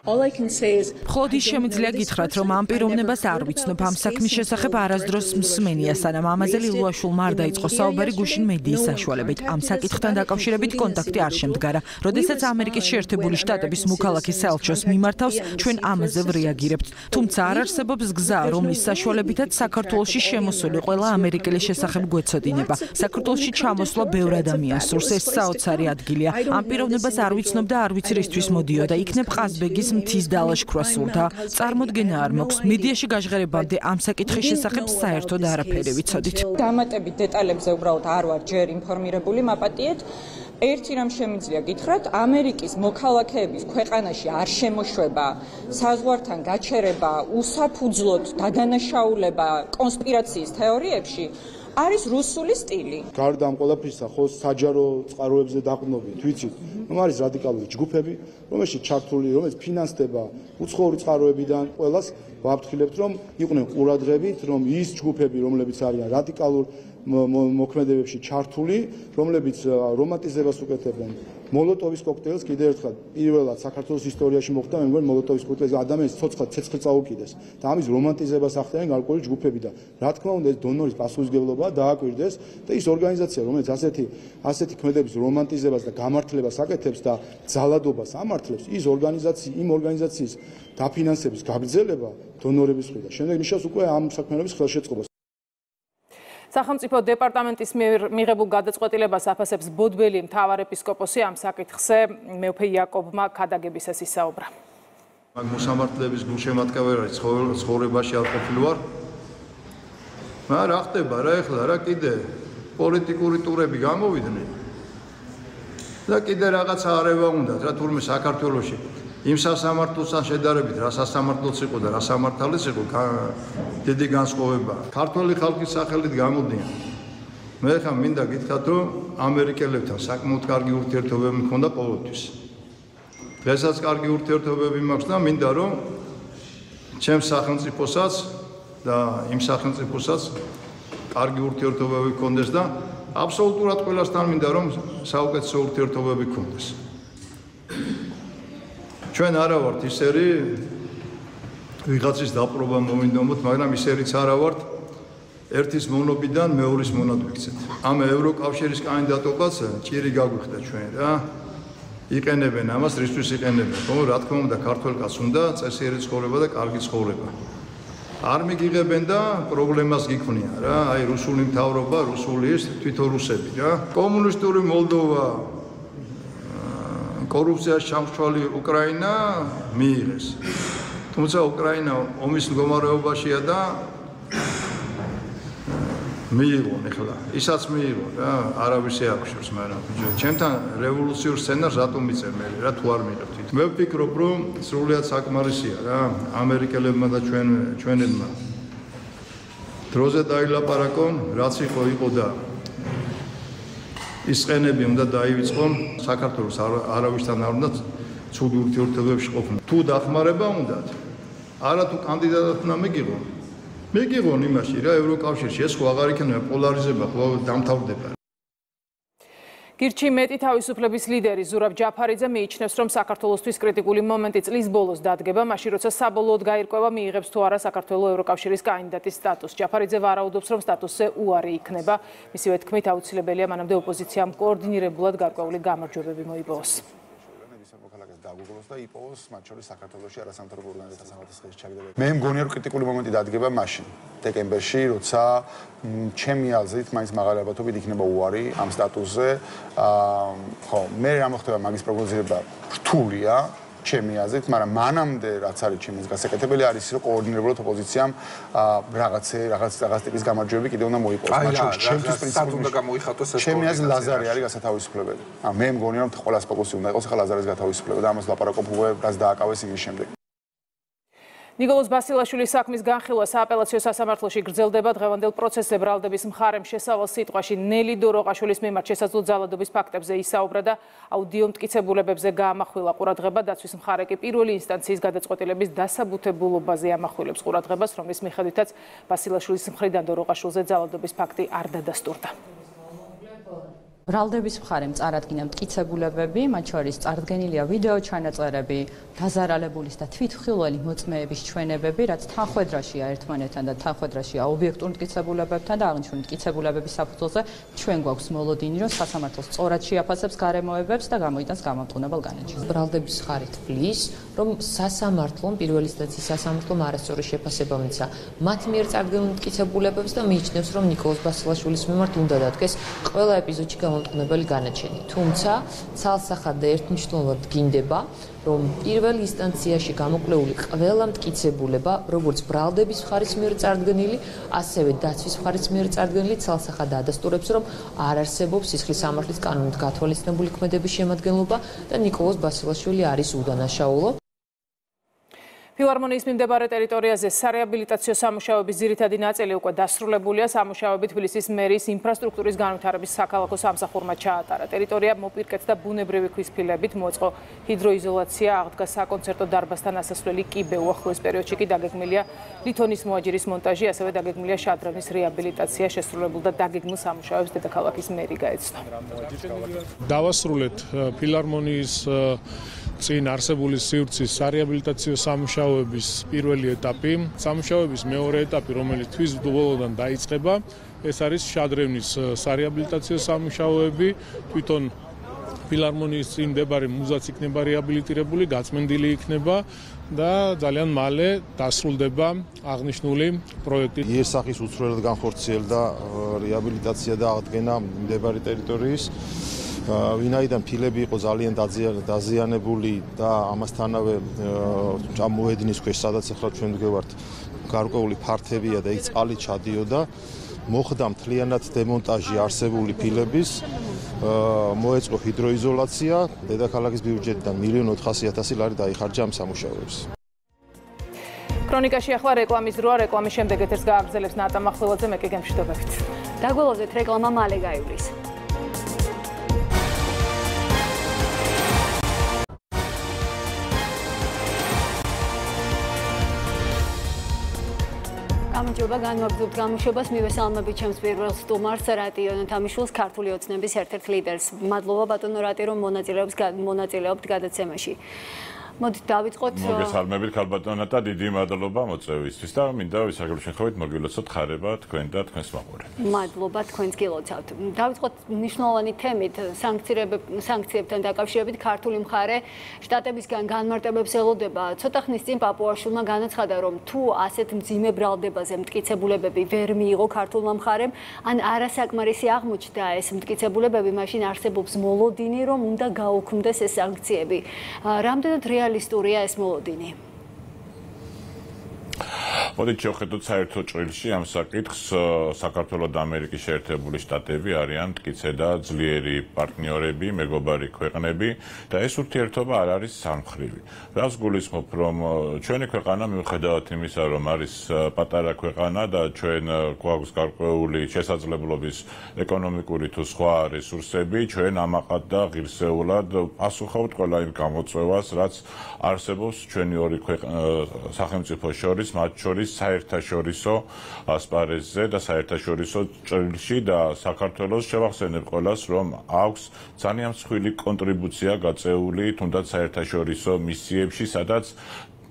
მხოლოდ ის შემიძლია გითხრათ, რომ ამ პიროვნებას არ ვიცნობ, ამ საქმის შესახებ არასდროს მსმენია, სანამ ამაზე ლილუაშვილმა არ დაიწყო საუბარი გუშინ მედიის საშუალებით. ამ საკითხთან დაკავშირებით კონტაქტი არ შემდგარა. როდესაც ამერიკის შეერთებული შტატების მოქალაქე საელჩოს მიმართავს, ჩვენ ამაზე ვრეაგირებთ. თუმცა არ არსებობს გზა, რომლის საშუალებითაც საქართველოში შემოსული ყველა ამერიკელის შესახებ გვეცოდინება. საქართველოში ჩამოსვლა ბევრ ადამიანს სურს, ეს საოცარი ადგილია. ამ პიროვნებას არ ვიცნობ და არ ვიცი რისთვის მოდიოდა. იქნებ ყაზბეგის მთის დალაშქვრა სურდა. წარმოდგენა არ მაქვს. მედიაში გაჟღერებამდე ამ საკითხის შესახებ საერთოდ არაფერი ვიცოდით. დამატებით დეტალებზე უბრალოდ არ ვარ ჯერ ინფორმირებული, მაპატიეთ. ერთი რამ შემიძლია გითხრათ, ამერიკის მოქალაქეების ქვეყანაში არ შემოშვება, საზღვართან გაჩერება, უსაფუძვლოდ დადანაშაულება კონსპირაციის თეორიებში არის რუსული სტილი. გარდა ამ ყველაფრისა, ხო საჯარო წყაროებზე დაყრდნობით, ვიცით, რომ არის რადიკალური ჯგუფები, რომელშიც ჩართული, რომელიც ფინანსდება უცხოური წყაროებიდან, ყველას ვაფრთხილებთ, რომ იყვნენ ყურადღებით, რომ ის ჯგუფები, რომლებიც არიან რადიკალურ მოქმედებებში ჩართული, რომლებიც რომანტიზებას უკეთებენ. მოლოტოვის კოქტეილს კიდევ ერთხელ პირველად საქართველოს ისტორიაში მოხდა, მე მგონი მოლოტოვის კოქტეილს ადამიანის ცოცხლად ცეცხლი წაუკიდეს და ამის რომანტიზებას ახდენენ გარკვეული ჯგუფები და რა თქმა უნდა ეს დონორის პასუხისმგებლობა დააკვირდეს და ის ორგანიზაცია, რომელიც ასეთი ქმედების რომანტიზებას და გამართლებას აკეთებს და ძალადობას ამართლებს, იმ ორგანიზაციის დაფინანსების გაგრძელება დონორების მხრიდან. შემდეგ ნიშნავს უკვე ამ საქმიანობის ხელშეწყობას. სახელმწიფო დეპარტამენტის მიღებულ გადაწყვეტილებას აფასებს ბოდბელი მთავარეპისკოპოსი. ამ საკითხზე მეუფე იაკობმა ქადაგებისას ისაუბრა. მაგ მოსამართლეების გულშემატკივარი ცხოვრებაში არ ყოფილი ვარ. რა ხდება რა ეხლა რა კიდე პოლიტიკური ტურები გამოვიდნენ და კიდე რაღაცა არევა უნდათ რა თურმე საქართველოში იმ სასამართლოსთან შედარებით რა სასამართლოც იყო და რა სამართალიც იყო დიდი განსხვავება. ქართველი ხალხის სახელით გამოდიან. მე ხა მინდა გითხრათ, რომ ამერიკელებთან საკმაოდ კარგი ურთიერთობები მქონდა ყოველთვის. დღესაც კარგი ურთიერთობები მაქვს და მინდა რომ ჩემს სახელმწიფოსაც და იმ სახელმწიფოსაც კარგი ურთიერთობები მქონდეს და აბსოლუტურად ყველასთან მინდა რომ საუკეთესო ურთიერთობები მქონდეს. ჩვენ არა ვართ ისერი ვიღაცის დაპყრობა მოვინდომოთ, მაგრამ ისერიც არა ვართ ერთის მონობიდან მეორის მონად ვიქცეთ. ამ ევროკავშირის კანდიდატობას ჭირი გაგვიხდა ჩვენ რა. იყენებენ ამას, რისთვის იყენებენ? ხო, რა თქმა უნდა, ქართველ კაცს უნდა წესიერი ცხოვრება და კარგი ცხოვრება. არ მიგიღებენ და პრობლემას გიქმნიან რა. აი რუსული მთავრობა, რუსული ის თვითონ რუსები რა. კომუნისტური მოლდოვა კორუფციაში ჩამსვლელი უკრაინა მიიღეს. თუმცა უკრაინა ომის მდგომარეობაშია და მიიღონ ეხლა. ისაც მიიღონ რა, არავის ეახშობს, მაგრამ ჩემთან რევოლუციურ სცენარს რატომ მიწერ მე რა თუ არ მიიღებთ. მე ვფიქრობ, რომ სრულიად საკმარისია რა, ამერიკელებმა და ჩვენებმა დროზე დაილაპარაკონ, რაც იყო და ის ყენები უნდა დაივიწყონ საქართველოს არავისთან არ უნდა ცუდი ურთიერთობებში ყოფნა. თუ დახმარება უნდათ, არა თუ კანდიდატად უნდა მიგიღონ იმაში რა ევროკავშირში ეს ხო აღარ იქნება პოლარიზება ხო დამთავრდება. გირჩი მეტი თავისუფლების ლიდერი ზურაბ ჯაფარიძე მიიჩნევს, რომ საქართველოსთვის კრიტიკული მომენტი წლის ბოლოს დადგება, მაშინ როცა საბოლოოდ გაირკვევა მიიღებს თუ არა საქართველოს ევროკავშირის კანდიდატის სტატუსს. ჯაფარიძე ვარაუდობს, რომ სტატუსზე უარი იქნება. მისივე თქმით, აუცილებელია მანამდე ოპოზიციამ კოორდინირებულად გარკვეული გამარჯვებები მოიპოვოს. დაგუგლოს და იპოვოს მათ შორის საქართველოში არასამთავრობო ორგანიზაციათა სამართლის ჩაგდება. მე მგონია რომ კრიტიკული მომენტი დადგება მაშინ, დეკემბერში, როცა ჩემი აზრით მაინც მაღალი ალბათობით იქნება უარი ამ სტატუსზე. ხო, მე რა მოხდება მაგის პროგნოზირება რთულია, ჩემი აზრით, მაგრამ მანამდე რაც არის ჩემს გასაკეთებელი არის რომ კოორდინირებულად ოპოზიციამ რაღაც ტიპის გამარჯვებები კიდევ უნდა მოიპოვოს. მათ შორის ჩემთვის პრინციპი უნდა გამოიხატოს ეს. ჩემი აზრით ლაზარე არის გასათავისუფლებელი. მე მგონია რომ ყველას ფოკუსი უნდა იყოს ახლა ლაზარის გათავისუფლება და ამას ლაპარაკობ უკვე რაც დააკავეს იმის შემდეგ. ნიკოლოზ ბასილაშვილის საქმის განხილვა სააპელაციო სასამართლოში გრძელდება. დღევანდელ პროცესზე ბრალდების მხარემ შესავალ სიტყვაში ნელი დოროყაშვილის მიმართ შესაძლო ძალადობის ფაქტებზე ისაუბრა და აუდიო მტკიცებულებებზე გაამახვილა ყურადღება. დაცვის მხარე კი პირველი ინსტანციის გადაწყვეტილების დასაბუთებულობაზე ამახვილებს ყურადღებას, რომლის მიხედვითაც ბასილაშვილის მხრიდან დოროყაშვილზე ძალადობის ფაქტი არ დადასტურდა. ბრალდების მხარემ წარადგინა მტკიცებულებები, მათ შორის წარდგენილია ვიდეო ჩანაწერები, დაზარალებულის და თვითმხილველი მოწმეების ჩვენებები, რაც თანხვედრაშია ერთმანეთთან და თანხვედრაშია ობიექტურ მტკიცებულებებთან და აღნიშნული მტკიცებულებების საფუძველზე ჩვენ გვაქვს მოლოდინი, რომ სასამართლო სწორად შეაფასებს გარემოებებს და გამოიტანს გამამტყუნებელ განაჩენს. ბრალდების მხარე თვლის, რომ სასამართლომ პირველი ინსტანციის სასამართლომ არასწორი შეფასება მიცა მათ მიერ წარდგენილ მტკიცებულებებს და მიიჩნევს, რომ ნიკოლოზ ბასილაშვილის მიმართ უნდა დადგეს ყველა ეპიზოდში გამამტყუნებელი განაჩენი. თუმცა ცალსახად და ერთმნიშვნელოვნად დგინდება, რომ პირველ ინსტანციაში გამოკვლეული ყველა მტკიცებულება, როგორც ბრალდების მხარის მიერ წარდგენილი, ასევე დაცვის მხარის მიერ წარდგენილი, ცალსახად ადასტურებს, რომ არ არსებობს სისხლის სამართლის კანონით გათვალისწინებული ქმედების შემადგენლობა და ნიკოლოზ ბასილაშვილი არის უდანაშაულო. ფილარმონიის მიმდებარე ტერიტორიაზე სარეაბილიტაციო სამუშაოების ძირითადი ნაწილი უკვე დასრულებულია. სამუშაოები თბილისის მერის ინფრასტრუქტურის განვითარების საქალაქო სამსახურმა ჩაატარა. ტერიტორია მოპირკეთდა ბუნებრივი ქვის ფილებით, მოწყო ჰიდროიზოლაცია, აღდგა საკონცერტო დარბაზთან ასასვლელი კიბე. უახლოეს პერიოდში კი დაგეგმილია ლითონის მოაჯირის მონტაჟი, ასევე დაგეგმილია შადრევნის რეაბილიტაცია. შესრულებულ და დაგეგმილ სამუშაოებს დედაქალაქის მერი გაეცნო. დავასრულეთ ფილარმონიის წინ არსებული სივრცის სარეაბილიტაციო სამუშაოების პირველი ეტაპი, სამუშაოების მეორე ეტაპი, რომელიც თვის ბოლოდან დაიწყება, ეს არის შადრევნის სარეაბილიტაციო სამუშაოები, თვითონ ფილარმონიის წინ მდებარე მუზაც იქნება რეაბილიტირებული, გაწმენდილი იქნება და ძალიან მალე დასრულდება აღნიშნული პროექტი. იერსახის უცვლელად განხორციელდა რეაბილიტაცია და აღდგენა მდებარე ტერიტორიის. ვინაიდან ფილები იყო ძალიან დაზიანებული და ამასთანავე მოედნის ქვეშ, სადაც ახლა ჩვენ ვდგევართ, გარკვეული ფართებია და იქ წყალი ჩადიოდა, მოხდა მთლიანად დემონტაჟი არსებული ფილების, მოეწყო ჰიდროიზოლაცია, დედაქალაქის ბიუჯეტიდან 1.4 მილიონ ლარი დაიხარჯა ამ სამუშაოებს. ქრონიკაში ახლა რეკლამის დროა, რეკლამის შემდეგ ეთერს გააგრძელებს ნატა მახველაძე, მე კი გემშვიდობებით. დაგველოძეთ რეკლამა მალე გაივლის. გამარჯობა, განვაგრძობთ გამოშვებას. მივესალმებით ჩემს პირველ სტუმარს, რატი იონათამიშვილს, ქართული ოცნების ერთ-ერთ ლიდერს. მადლობა ბატონო რატი, რომ მონაწილეობთ გადაცემაში. მოდით დავიწყოთ. მოგესალმებით ქალბატონო და დიდი მადლობა მოწვევისთვის და მინდა ვისაგებ შეხვედრით მოგილოცოთ ხარება თქვენ და თქვენს მაყურებლებს. მადლობა, თქვენს გილოცავთ. დავიწყოთ მნიშვნელოვანი თემით, სანქციებთან დაკავშირებით. ქართული მხარე შტატებისგან განმარტებებს ელოდება. ცოტა ხნის წინ პაპუაშვილმა განაცხადა, რომ თუ ასეთ მძიმე ბრალდებაზე მტკიცებულებები ვერ მიიღო ქართულმა მხარემ, ან არასაკმარისი აღმოჩნდა ეს მტკიცებულებები, მაშინ არსებობს მოლოდინი, რომ უნდა გაუქმდეს ეს სანქციები. რამდენად რეალისტურია ეს მოლოდინი? მოდით შევხედოთ საერთო ჭრილში ამ საკითხს. საქართველო და ამერიკის შეერთებული შტატები არიან მტკიცე და ძლიერი პარტნიორები, მეგობარი ქვეყნები და ეს ურთიერთობა არ არის სამმხრივი. რას გულისხმობ, რომ ჩვენი ქვეყანა მიუხედავად იმისა, რომ არის პატარა ქვეყანა და ჩვენ გვაქვს გარკვეული შესაძლებლობის ეკონომიკური თუ სხვა რესურსები, ჩვენ ამაყად და ღირსეულად პასუხობთ ყველა იმ გამოწვევას, რაც არსებობს ჩვენი ორი სახელმწიფო შორის, მათ შორის საერთაშორისო ასპარეზზე და საერთაშორისო ჭრილში და საქართველოს შევახსენებ ყველას, რომ აქვს ძალიან მსხვილი კონტრიბუცია გაწეული თუნდაც საერთაშორისო მისიებში, სადაც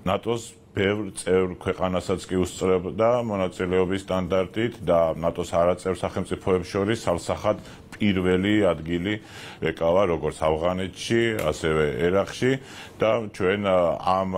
ნატოს ბევრ წევრ ქვეყანასაც კი უსწრებდა მონაწილეობის სტანდარტით და ნატოს არაწევრ სახელმწიფოებს შორის სალსახად პირველი ადგილი ეკავა როგორც ავღანეთში, ასევე ერაყში და ჩვენ ამ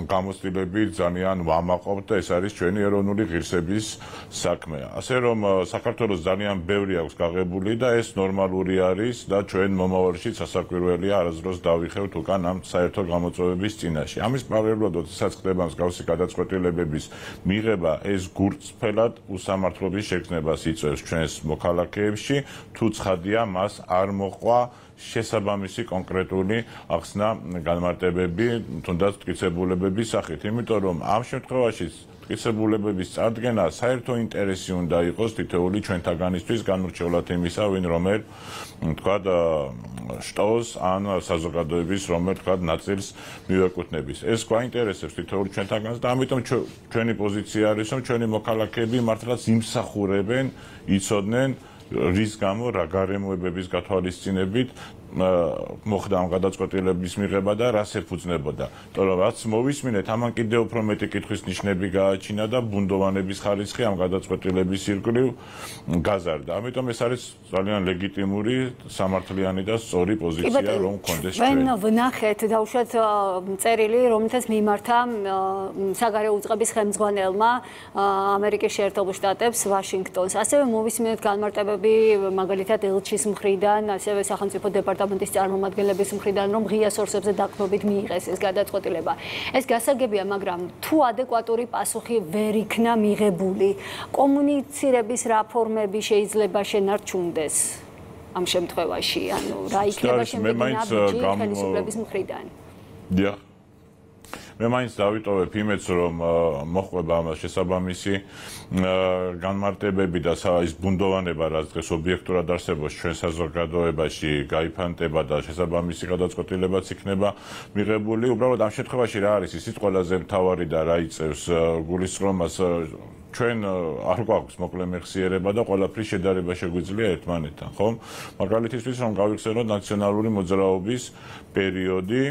გამოცდილებით ძალიან ვამაყობთ და ეს არის ჩვენი ეროვნული ღირსების საქმე. ასე რომ საქართველოს ძალიან ბევრი აქვს გაღებული და ეს ნორმალური არის და ჩვენ მომავალში სასაკვირველია არასდროს დავიხევთ უკან ამ საერთო გამოწვევების წინაშე. ამის პარალელურად, როდესაც ხდება მსგავსი გადაწყვეტილებების მიღება, ეს გულწრფელად უსამართლობის შექმნებას იწვევს ჩვენს მოქალაქეებში. თუ ცხადია, მას არ მოყვა შესაბამისი კონკრეტული ახსნა განმარტებები, თუნდაც მტკიცებულებების სახით, იმიტომ რომ ამ შემთხვევაში მტკიცებულებების წარდგენა საერთო ინტერესი უნდა იყოს თითოეული ჩვენთაგანისთვის განურჩევლად იმისა, ვინ რომელ თქვა შტოს ან საზოგადოების რომელ თქვა ნაწილს მივეკუთვნების. ეს გვაინტერესებს თითოეული ჩვენთაგანს და ამიტომ ჩვენი პოზიცია არის, რომ ჩვენი მოქალაქეები მართლაც იმსახურებენ, იცოდნენ რის გამო რა გარემოებების გათვალისწინებით მოხდა ამ გადაწყვეტილების მიღება და რას ეფუძნებოდა. იმიტომ რომ რაც მოვისმინეთ, ამან კიდევ უფრო მეტი კითხვის ნიშნები გააჩინა და ბუნდოვანების ხარისხი ამ გადაწყვეტილების ირგვლივ გაზარდა. ამიტომ ეს არის ძალიან ლეგიტიმური, სამართლიანი და სწორი პოზიცია, რომ გქონდეს ჩვენ. ჩვენ ვნახეთ დაუშვათ წერილი, რომელთაც მიმართა საგარეო უწყების ხელმძღვანელმა ამერიკის შეერთებულ შტატებს ვაშინგტონს. ასევე მოვისმინეთ განმარტებები მაგალითად ელჩის მხრიდან, ასევე სახელმწიფო დეპარტამენტის წარმომადგენლების მხრიდან, რომ ღია სორსებზე დაყრდნობით მიიღეს ეს გადაწყვეტილება. ეს გასაგებია, მაგრამ თუ ადეკვატური პასუხი ვერ იქნა მიღებული, კომუნიცირების რა ფორმები შეიძლება შენარჩუნდეს ამ შემთხვევაში, ანუ რა იქნება შემდეგი ნაბიჯი ხელისუფლების მხრიდან? დიახ. მე მაინც დავიტოვებ იმედს, რომ მოხდება ამას შესაბამისი განმარტებები და ის ბუნდოვანება, რაც დღეს ობიექტურად არსებობს ჩვენ საზოგადოებაში, გაიფანტება და შესაბამისი გადაწყვეტილებაც იქნება მიღებული. უბრალოდ ამ შემთხვევაში რა არის ისიც ყველაზე მთავარი და რა იწევს გულისწყრომას, ჩვენ არ გვაქვს მოკლე მეხსიერება და ყველაფრის შედარება შეგვიძლია ერთმანეთთან, ხომ? მაგალითისთვის რომ გავიხსენოთ ნაციონალური მოძრაობის პერიოდი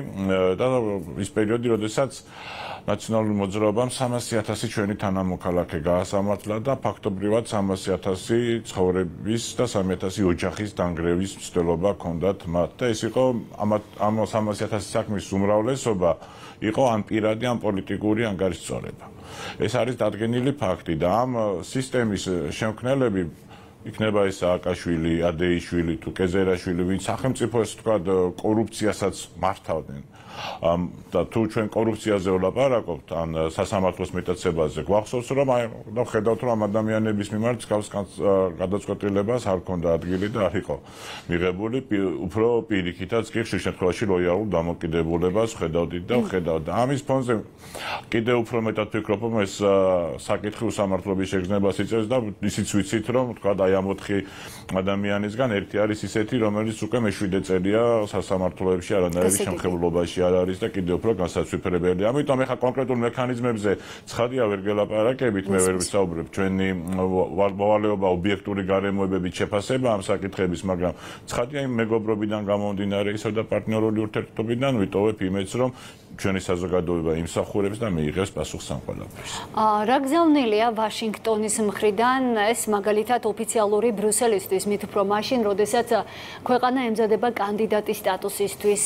და ის პერიოდი, როდესაც ნაციონალური მოძრაობამ 300,000 ჩვენი თანამოქალაქე გაასამართლა და ფაქტობრივად 300,000 ცხოვრების და 300,000 ოჯახის დანგრევის მცდელობა ჰქონდათ მათ და ეს იყო ამ 300,000 საქმის უმრავლესობა იყო ან პირადი, ან პოლიტიკური ანგარიშწორება. ეს არის დადგენილი ფაქტი და ამ სისტემის შემქმნელები იქნება ეს სააკაშვილი, ადეიშვილი თუ კეზერაშვილი, ვინც სახელმწიფოს თქვა კორუფციასაც მართავდნენ. და თუ ჩვენ კორუფციაზე ვლაპარაკობთ, ან სასამართლოს მეტაცებაზე, გვახსოვს რომ და ხედავთ რომ ამ ადამიანების მიმართ გავს გადაწყვეტილებას არ ქონდა ადგილი და არ იყო მიღებული, უფრო პირიქითაც კი ხშირ შემთხვევაში ლოიალურ დამოკიდებულებას ხედავდით და ხედავთ. და ამის ფონზე კიდევ უფრო მეტად ვფიქრობ, რომ ეს საკითხი უსამართლობის შეგრძნებას იწევს და ისიც ვიცით, რომ თქვა აი ამ 4 ადამიანისგან ერთი არის ისეთი, რომელიც უკვე მე-7 წელია სასამართლოებში არანაირი შემხებლობაში არ არის და კიდევ უფრო განსაცვიფრებელია. ამიტომ ეხა კონკრეტულ მექანიზმებზე ცხადია ვერ გელაპარაკებით, მე ვერ ვისაუბრებ ჩვენი მოვალეობა ობიექტური გარემოებებით შეფასება ამ საკითხების, მაგრამ ცხადია იმ მეგობრობიდან გამომდინარე ისო და პარტნიორული ურთიერთობიდან ვიტოვებ იმედს, რომ ჩვენი საზოგადოება იმსახურებს და მიიღებს პასუხს ამ ყველაფერს. რა გზავნილია ვაშინგტონის მხრიდან ეს მაგალითად ოფიციალური ბრიუსელისთვის, მით უფრო მაშინ, როდესაც ქვეყანა ემზადება კანდიდატის სტატუსისთვის,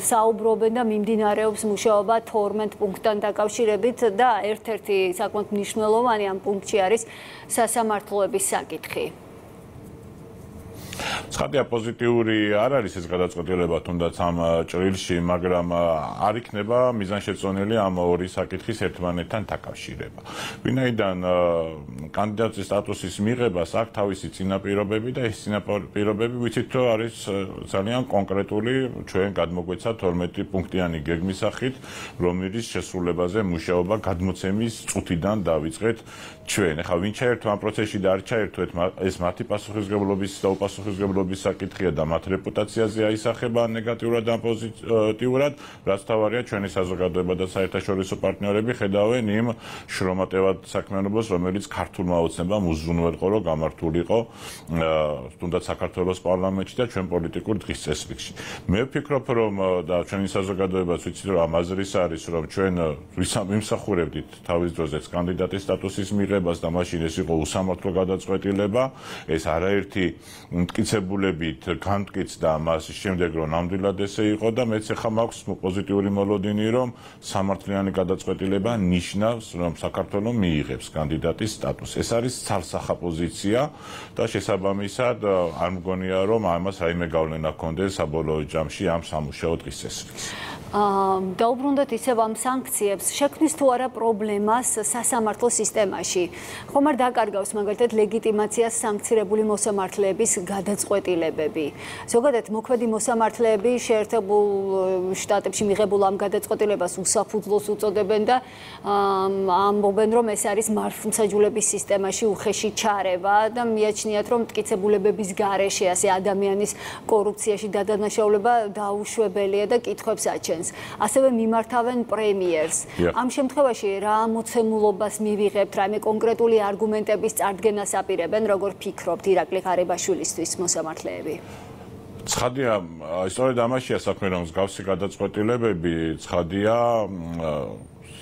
საუბრობენ და მიმდინარეობს მუშაობა 12 პუნქტთან დაკავშირებით და ერთ-ერთი საკმაოდ მნიშვნელოვანი ამ პუნქტში არის სასამართლოების საკითხი. ცხადია პოზიტიური არ არის ეს გადაწყვეტილება თუნდაც ამ ჭრილში, მაგრამ არ იქნება მიზანშეწონილი ამ ორი საკითხის ერთმანეთთან დაკავშირება. ვინაიდან კანდიდატის სტატუსის მიღებას აქვს თავისი წინაპირობები და ეს წინაპირობები ვიცით რომ არის ძალიან კონკრეტული, ჩვენ გადმოგვეცა 12 პუნქტიანი გეგმის სახით, რომლის შესრულებაზე მუშაობა გადმოცემის წუთიდან დავიწყეთ ჩვენ. ეხლა ვინ ჩაერთო ამ პროცესში და არ ჩაერთო, ეს მათი პასუხისმგებლობის და უპასუხისმგებლობის საკითხია და მათ რეპუტაციაზე აისახება ნეგატიურად ან პოზიტიურად, რაც თავარია ჩვენი საზოგადოება და საერთაშორისო პარტნიორები ხედავენ იმ შრომატევად საქმიანობას, რომელიც ქართულმა ოცნებამ უზრუნველყო, რომ გამართულიყო თუნდაც საქართველოს პარლამენტში და ჩვენ პოლიტიკურ დღის წესრიგში. მე ვფიქრობ, რომ და ჩვენი საზოგადოებაც ვიცით, რომ ამ აზრის არის, რომ ჩვენ ვიმსახურებდით თავის დროზეც კანდიდატის სტატუსის მიღებას და მაშინ ეს იყო უსამართლო გადაწყვეტილება, ეს არაერთი მტკიცებულებით განმტკიცდა მას შემდეგ რომ ნამდვილად ესე იყო და მეც ახლა მაქვს პოზიტიური მოლოდინი რომ სამართლიანი გადაწყვეტილება ნიშნავს რომ საქართველოს მიიღებს კანდიდატის სტატუსს. ეს არის ცალსახა პოზიცია და შესაბამისად არ მგონია რომ ამას რაიმე გავლენა ჰქონდეს საბოლოო ჯამში ამ სამუშაო დღის წესრიგს. დაუბრუნდეთ ისევ ამ სანქციებს, შექმნის თუ არა პრობლემას სასამართლო სისტემაში. ხომ არ დაკარგავს მაგალითად ლეგიტიმაციას სანქცირებული მოსამართლეების გადაწყვეტილება გადაწყვეტილებები. ზოგადად მოქმედი მოსამართლეები შეერთებულ შტატებში მიღებულ ამ გადაწყვეტილებას უსაფუძვლოს უწოდებენ და ამბობენ, რომ ეს არის მართლმსაჯულების სისტემაში უხეში ჩარევა და მიაჩნიათ, რომ მტკიცებულებების გარეშე ასე ადამიანის კორუფციაში დადანაშაულება დაუშვებელია და კითხვებს აჩენს. ასევე მიმართავენ პრემიერს. ამ შემთხვევაში რა მოცემულობას მივიღებთ, რაიმე კონკრეტული არგუმენტების წარდგენას აპირებენ, როგორ ფიქრობთ ირაკლი ღარიბაშვილისთვის მოსამართლეები? ცხადია, სწორედ ამაშია საქმე, რომ მსგავსი გადაწყვეტილებები ცხადია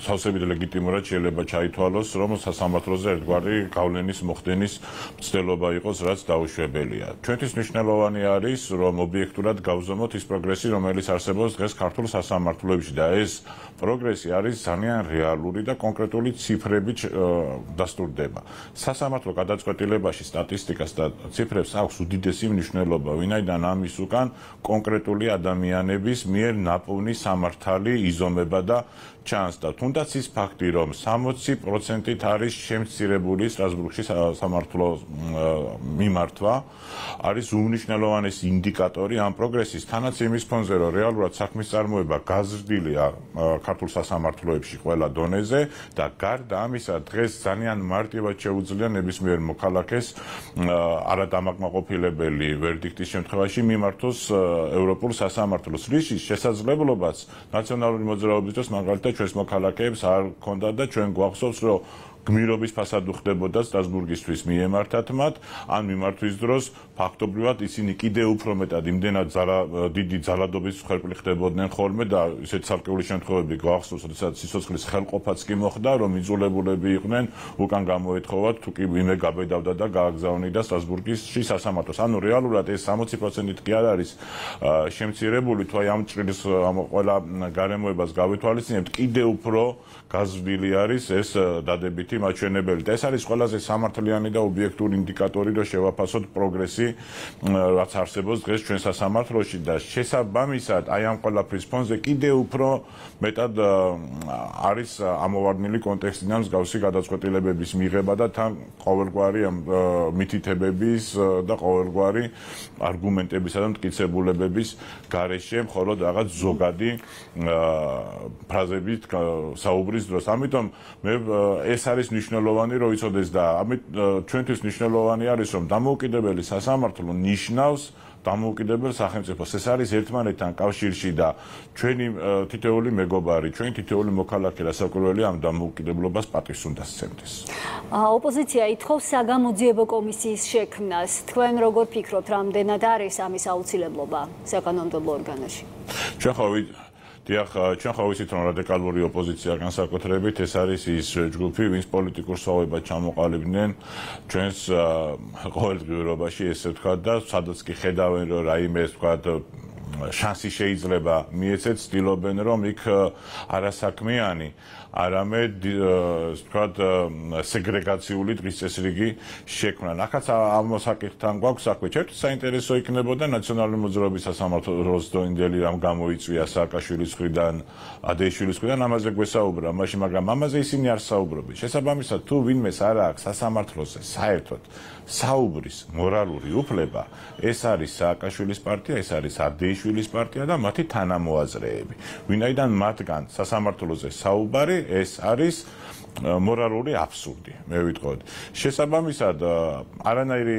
სავსებით ლეგიტიმურად შეიძლება ჩაითვალოს, რომ სასამართლოზე ერთგვარი გავლენის მოხდენის მცდელობა იყოს, რაც დაუშვებელია. ჩვენთვის მნიშვნელოვანი არის, რომ ობიექტურად გავზომოთ ის პროგრესი, რომელიც არსებობს დღეს ქართულ სასამართლოებში და ეს პროგრესი არის ძალიან რეალური და კონკრეტული ციფრებით დასტურდება. სასამართლო გადაწყვეტილებაში სტატისტიკას და ციფრებს აქვს უდიდესი მნიშვნელობა, ვინაიდან ამის უკან კონკრეტული ადამიანების მიერ ნაპოვნი სამართალი იზომება და ჩანს და თუნდაც ის ფაქტი, რომ 60%-ით არის შემცირებული სტრასბურგში სამართლო მიმართვა, არის უმნიშვნელოვანესი ინდიკატორი ამ პროგრესის, თანაც იმის ფონზე, რომ რეალურად საქმის წარმოება გაზრდილია ქართულ სასამართლოებში ყველა დონეზე და გარდა ამისა, დღეს ძალიან მარტივად შეუძლია ნებისმიერ მოქალაქეს არადამაკმაყოფილებელი ვერდიქტის შემთხვევაში მიმართოს ევროპულ სასამართლოს, რის შესაძლებლობაც ნაციონალური მოძრაობის დროს მაგალითად ჩვენს მოქალაქეებს არ ქონდა და ჩვენ გვახსოვს, რომ გმირობის ფასად უხდებოდა სტრასბურგისთვის მიემართათ მათ, ან მიმართვის დროს ფაქტობრივად ისინი კიდევ უფრო მეტად იმდენად დიდი ძალადობის ხერხი ხდებოდნენ ხოლმე და ისეთ ცალკეული შემთხვევები გვახსოვს, როდესაც სიცოცხლის ხელყოფაც კი მოხდა, რომ იძულებულები იყვნენ უკან გამოეთხოვათ, თუ კი ვინმე გაბედავდა და გააგზავნიდა სტრასბურგში სასამართლოს. ანუ რეალურად ეს 60%-ით კი არ არის შემცირებული, თუ აი ამ ჭრილის ყველა გარემოებას გავითვალისწინებთ, კიდევ უფრო გაზრდილი არის ეს დადებითი მაჩვენებელი და ეს არის ყველაზე სამართლიანი და ობიექტური ინდიკატორი, რომ შევაფასოთ პროგრესი, რაც არსებობს დღეს ჩვენ სასამართლოში და შესაბამისად აი ამ ყველაფრის ფონზე კიდევ უფრო მეტად არის ამოვარდნილი კონტექსტიდან მსგავსი გადაწყვეტილებების მიღება და თან ყოველგვარი მითითებების და ყოველგვარი არგუმენტებისა და მტკიცებულებების გარეშე მხოლოდ რაღაც ზოგადი ფრაზებით საუბრის დროს. ამიტომ მე ეს არის მნიშვნელოვანი, რომ იცოდეს და ამით ჩვენთვის მნიშვნელოვანი არის, რომ დამოუკიდებელი სასამართლო ნიშნავს დამოუკიდებელ სახელმწიფოს. ეს არის ერთმანეთთან კავშირში და ჩვენი თითოეული მეგობარი, ჩვენი თითოეული მოქალაქე რასაკვირველია ამ დამოუკიდებლობას პატივს უნდა სცემდეს. ოპოზიცია ითხოვს საგამოძიებო კომისიის შექმნას. თქვენ როგორ ფიქრობთ, რამდენად არის ამის აუცილებლობა საკანონმდებლო ორგანოში? ჩვენ ხო ვიცით, რომ რადიკალური ოპოზიცია განსაკუთრებით ეს არის ის ჯგუფი, ვინც პოლიტიკურ სვავებად ჩამოყალიბდნენ ჩვენს ყოველდღიურობაში, ესე ვთქვათ და სადაც კი ხედავენ, რომ რაიმე ეს ვთქვათ შანსი შეიძლება მიეცეთ, ცდილობენ, რომ იქ არასაქმიანი არამედ ვთქვათ სეგრეგაციული დღის წესრიგი შექმნან. ახაც ამ მოსაკითხთან გვაქვს საქმე. ჩემთვის საინტერესო იქნებოდა ნაციონალური მოძრაობის სასამართლოს დროინდელი რამ გამოიწვია სააკაშვილის მხრიდან, ადეიშვილის მხრიდან, ამაზე გვესაუბრა მაშინ, მაგრამ ამაზე ისინი არ საუბრობენ. შესაბამისად, თუ ვინმეს არ აქვს სასამართლოზე საერთოდ საუბრის მორალური უფლება, ეს არის სააკაშვილის პარტია, ეს არის ადეიშვილის პარტია და მათი თანამოაზრეები. ვინაიდან მათგან სასამართლოზე საუბარი ეს არის მორალური აბსურდი, მე ვიტყოდი. შესაბამისად, არანაირი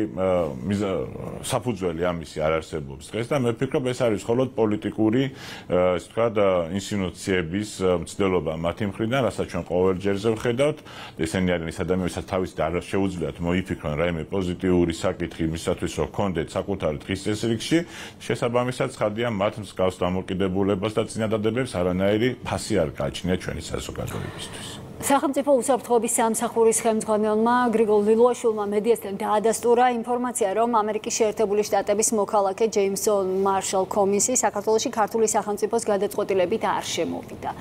საფუძველი ამისი არ არსებობს დღეს და მე ვფიქრობ, ეს არის მხოლოდ პოლიტიკური, ასე ვთქვათ, ინსინუაციების მცდელობა მათი მხრიდან, რასაც ჩვენ ყოველ ჯერზე ვხედავთ. ესენი არიან ის ადამიანები, ვისაც თავის და არ შეუძლიათ მოიფიქრონ რაიმე პოზიტიური საკითხი იმისათვის, რომ კონდეთ საკუთარი დღის წესრიგში. შესაბამისად, ცხადია მათ მსგავს დამოკიდებულებას და წინადადებებს არანაირი ფასი არ გააჩნია ჩვენი საზოგადოებისთვის. სახელმწიფო უსაფრთხოების სამსახურის ხელმძღვანელმა გრიგოლ ლილუაშვილმა მედიასთან დაადასტურა ინფორმაცია, რომ ამერიკის შეერთებული შტატების მოქალაქე ჯეიმსონ მარშალ კომინსი საქართველოში ქართული სახელმწიფოს გადაწყვეტილებით არ შემოვიდა.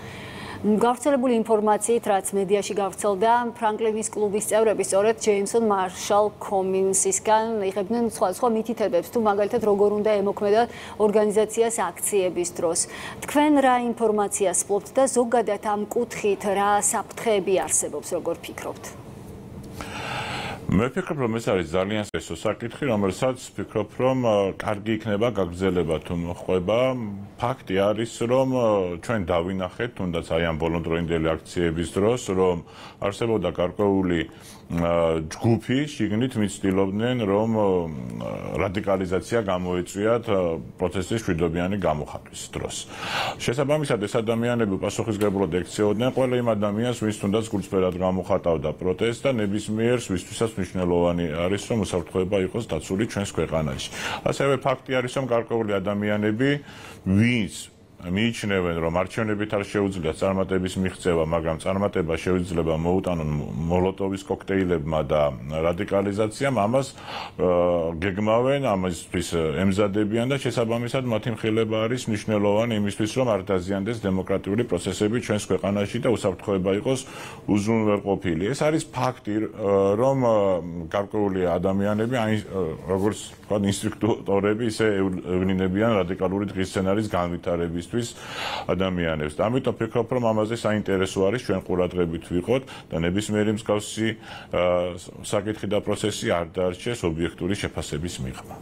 გავრცელებული ინფორმაციით, რაც მედიაში გავრცელდა, ფრანკლინის კლუბის წევრები სწორედ ჯეიმსონ მარშალ კომინსისგან იღებდნენ სხვადასხვა მითითებებს, თუ მაგალითად როგორ უნდა ემოქმედათ ორგანიზაციას აქციების დროს. თქვენ რა ინფორმაციას ფლობთ და ზოგადად ამ კუთხით რა საფრთხეები არსებობს, როგორ ფიქრობთ? მე ვფიქრობ, რომ ეს არის ძალიან სესო საკითხი, რომელსაც ვფიქრობ, რომ კარგი იქნება გაგრძელება თუ მოხდება. ფაქტი არის, რომ ჩვენ დავინახეთ, თუნდაც აი ამ ბოლონდროინდელი აქციების დროს, რომ არსებობდა გარკვეული ჯგუფი, შიგნით მიცდილობდნენ, რომ რადიკალიზაცია გამოეწვიათ პროცესის მშვიდობიანი გამოხატვის დროს. შესაბამისად, ეს ადამიანები პასუხისმგებლად ექცეოდნენ ყველა იმ ადამიანს, ვინც თუნდაც გულწრფელად გამოხატავდა პროტესტს და ნებისმიერ ვისთვისაც მნიშვნელოვანი არის, რომ უსაფრთხოება იყოს დაცული ჩვენს ქვეყანაში. ასევე ფაქტი არის, რომ გარკვეული ადამიანები, ვინც მიიჩნევენ, რომ არჩევნებით არ შეუძლიათ წარმატების მიღწევა, მაგრამ წარმატება შეიძლება მოუტანონ მოლოტოვის კოქტეილებმა და რადიკალიზაციამ, ამას გეგმავენ, ამისთვის ემზადებიან და შესაბამისად მათი მხილება არის მნიშვნელოვანი იმისთვის, რომ არ დაზიანდეს დემოკრატიული პროცესები ჩვენს ქვეყანაში და უსაფრთხოება იყოს უზრუნველყოფილი. ეს არის ფაქტი, რომ გარკვეული ადამიანები, როგორც თქვა, ინსტრუქტორები ისე ევლინებიან რადიკალური დღის სცენარის განვითარების ადამიანებს. და ამიტომ ვფიქრობ, რომ ამაზე საინტერესო არის ჩვენ ყურადღებით ვიყოთ და ნებისმიერი მსგავსი საკითხი და პროცესი არ დაარჩეს ობიექტური შეფასების მიღმა.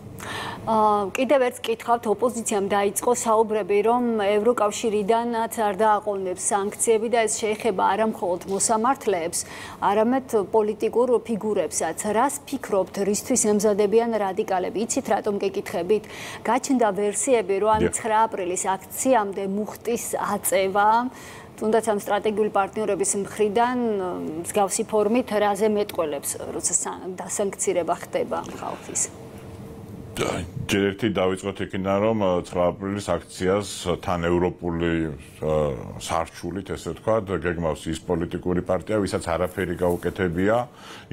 კიდევ ერთ კითხავთ, ოპოზიციამ დაიწყო საუბრები, რომ ევროკავშირიდანაც არ დააყოვნებს სანქციები და ეს შეეხება არა მხოლოდ მოსამართლეებს, არამედ პოლიტიკურ ფიგურებსაც. რას ფიქრობთ, რისთვის ემზადებიან რადიკალები? იცით რატომ გეკითხებით? გაჩნდა ვერსიები, რომ ან 9 აპრილის აქცია მუხტის აწევა, თუნდაც ამ სტრატეგიული პარტნიორების მხრიდან მსგავსი ფორმით რაზე მეტყველებს, როცა დასანქცირება ხდება ხალხის. ჯერ ერთი დავიწყოთ იქიდან, რომ 9 აპრილის აქციას თან ევროპული სარჩულით, ესე ვთქვათ, გეგმავს ის პოლიტიკური პარტია, ვისაც არაფერი გაუკეთებია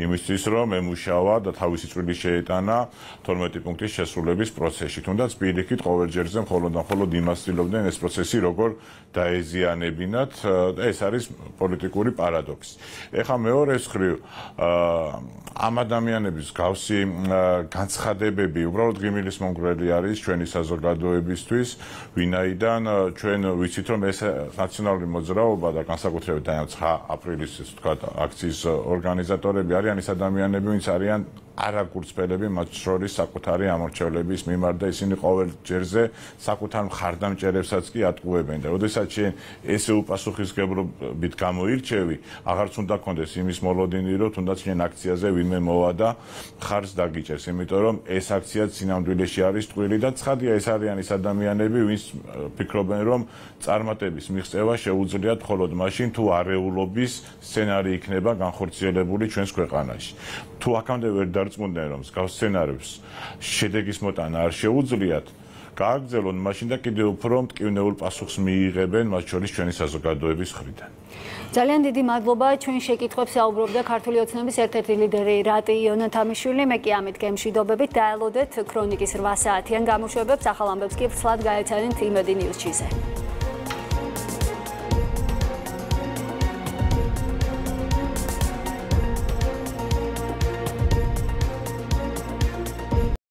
იმისთვის, რომ ემუშავა და თავისი წვლილი შეეტანა 12 პუნქტის შესრულების პროცესში. თუნდაც პირიქით ყოველ ჯერზე მხოლოდ და მხოლოდ იმას ცდილობდნენ ეს პროცესი როგორ დაეზიანებინათ და ეს არის პოლიტიკური პარადოქსი. ეხლა მეორე მხრივ ამ ადამიანების გავსი განცხადებები უბრალოდ ღიმილის მონგრელი არის ჩვენი საზოგადოებისთვის, ვინაიდან ჩვენ ვიცით, რომ ეს ნაციონალური მოძრაობა და განსაკუთრებით აი 9 აპრილის ეს ვთქვათ აქციის ორგანიზატორები არიან ის ადამიანები, ვინც არიან არაგულწრფელები, მათ შორის საკუთარი ამორჩევლების მიმართ და ისინი ყოველ ჯერზე საკუთარ მხარდამჭერებსაც კი ატყუებენ და როდესაც შენ ესე უპასუხისმგებლობით გამოირჩევი, აღარც უნდა გქონდეს იმის მოლოდინი, რომ თუნდაც შენ აქციაზე ვინმე მოვა და მხარს დაგიჭერს, იმიტომ რომ ეს აქცია სინამდვილეში არის ტყვილი და ცხადია ეს არიან ის ადამიანები, ვინც ფიქრობენ, რომ წარმატების მიღწევა შეუძლიათ მხოლოდ მაშინ, თუ არეულობის სცენარი იქნება განხორციელებული ჩვენს ქვეყანაში. თუ აქამდე ვერ დარწმუნდნენ, რომ მსგავს სცენარებს შედეგის მოტანა არ შეუძლიათ, გააგრძელონ მაშინ და კიდევ უფრო მტკივნეულ პასუხს მიიღებენ, მათ შორის ჩვენი საზოგადოების მხრიდან. ძალიან დიდი მადლობა. ჩვენ შეკითხვებს საუბრობდა ქართული ოცნების ერთ-ერთი ლიდერი რატი იონათამიშვილი. მე კი ამით გემშვიდობებით დაელოდეთ ქრონიკის 8 საათიან გამოშვებებს. ახალ ამბებს კი ვრცლად გაეცანით იმედი ნიუზ-ში.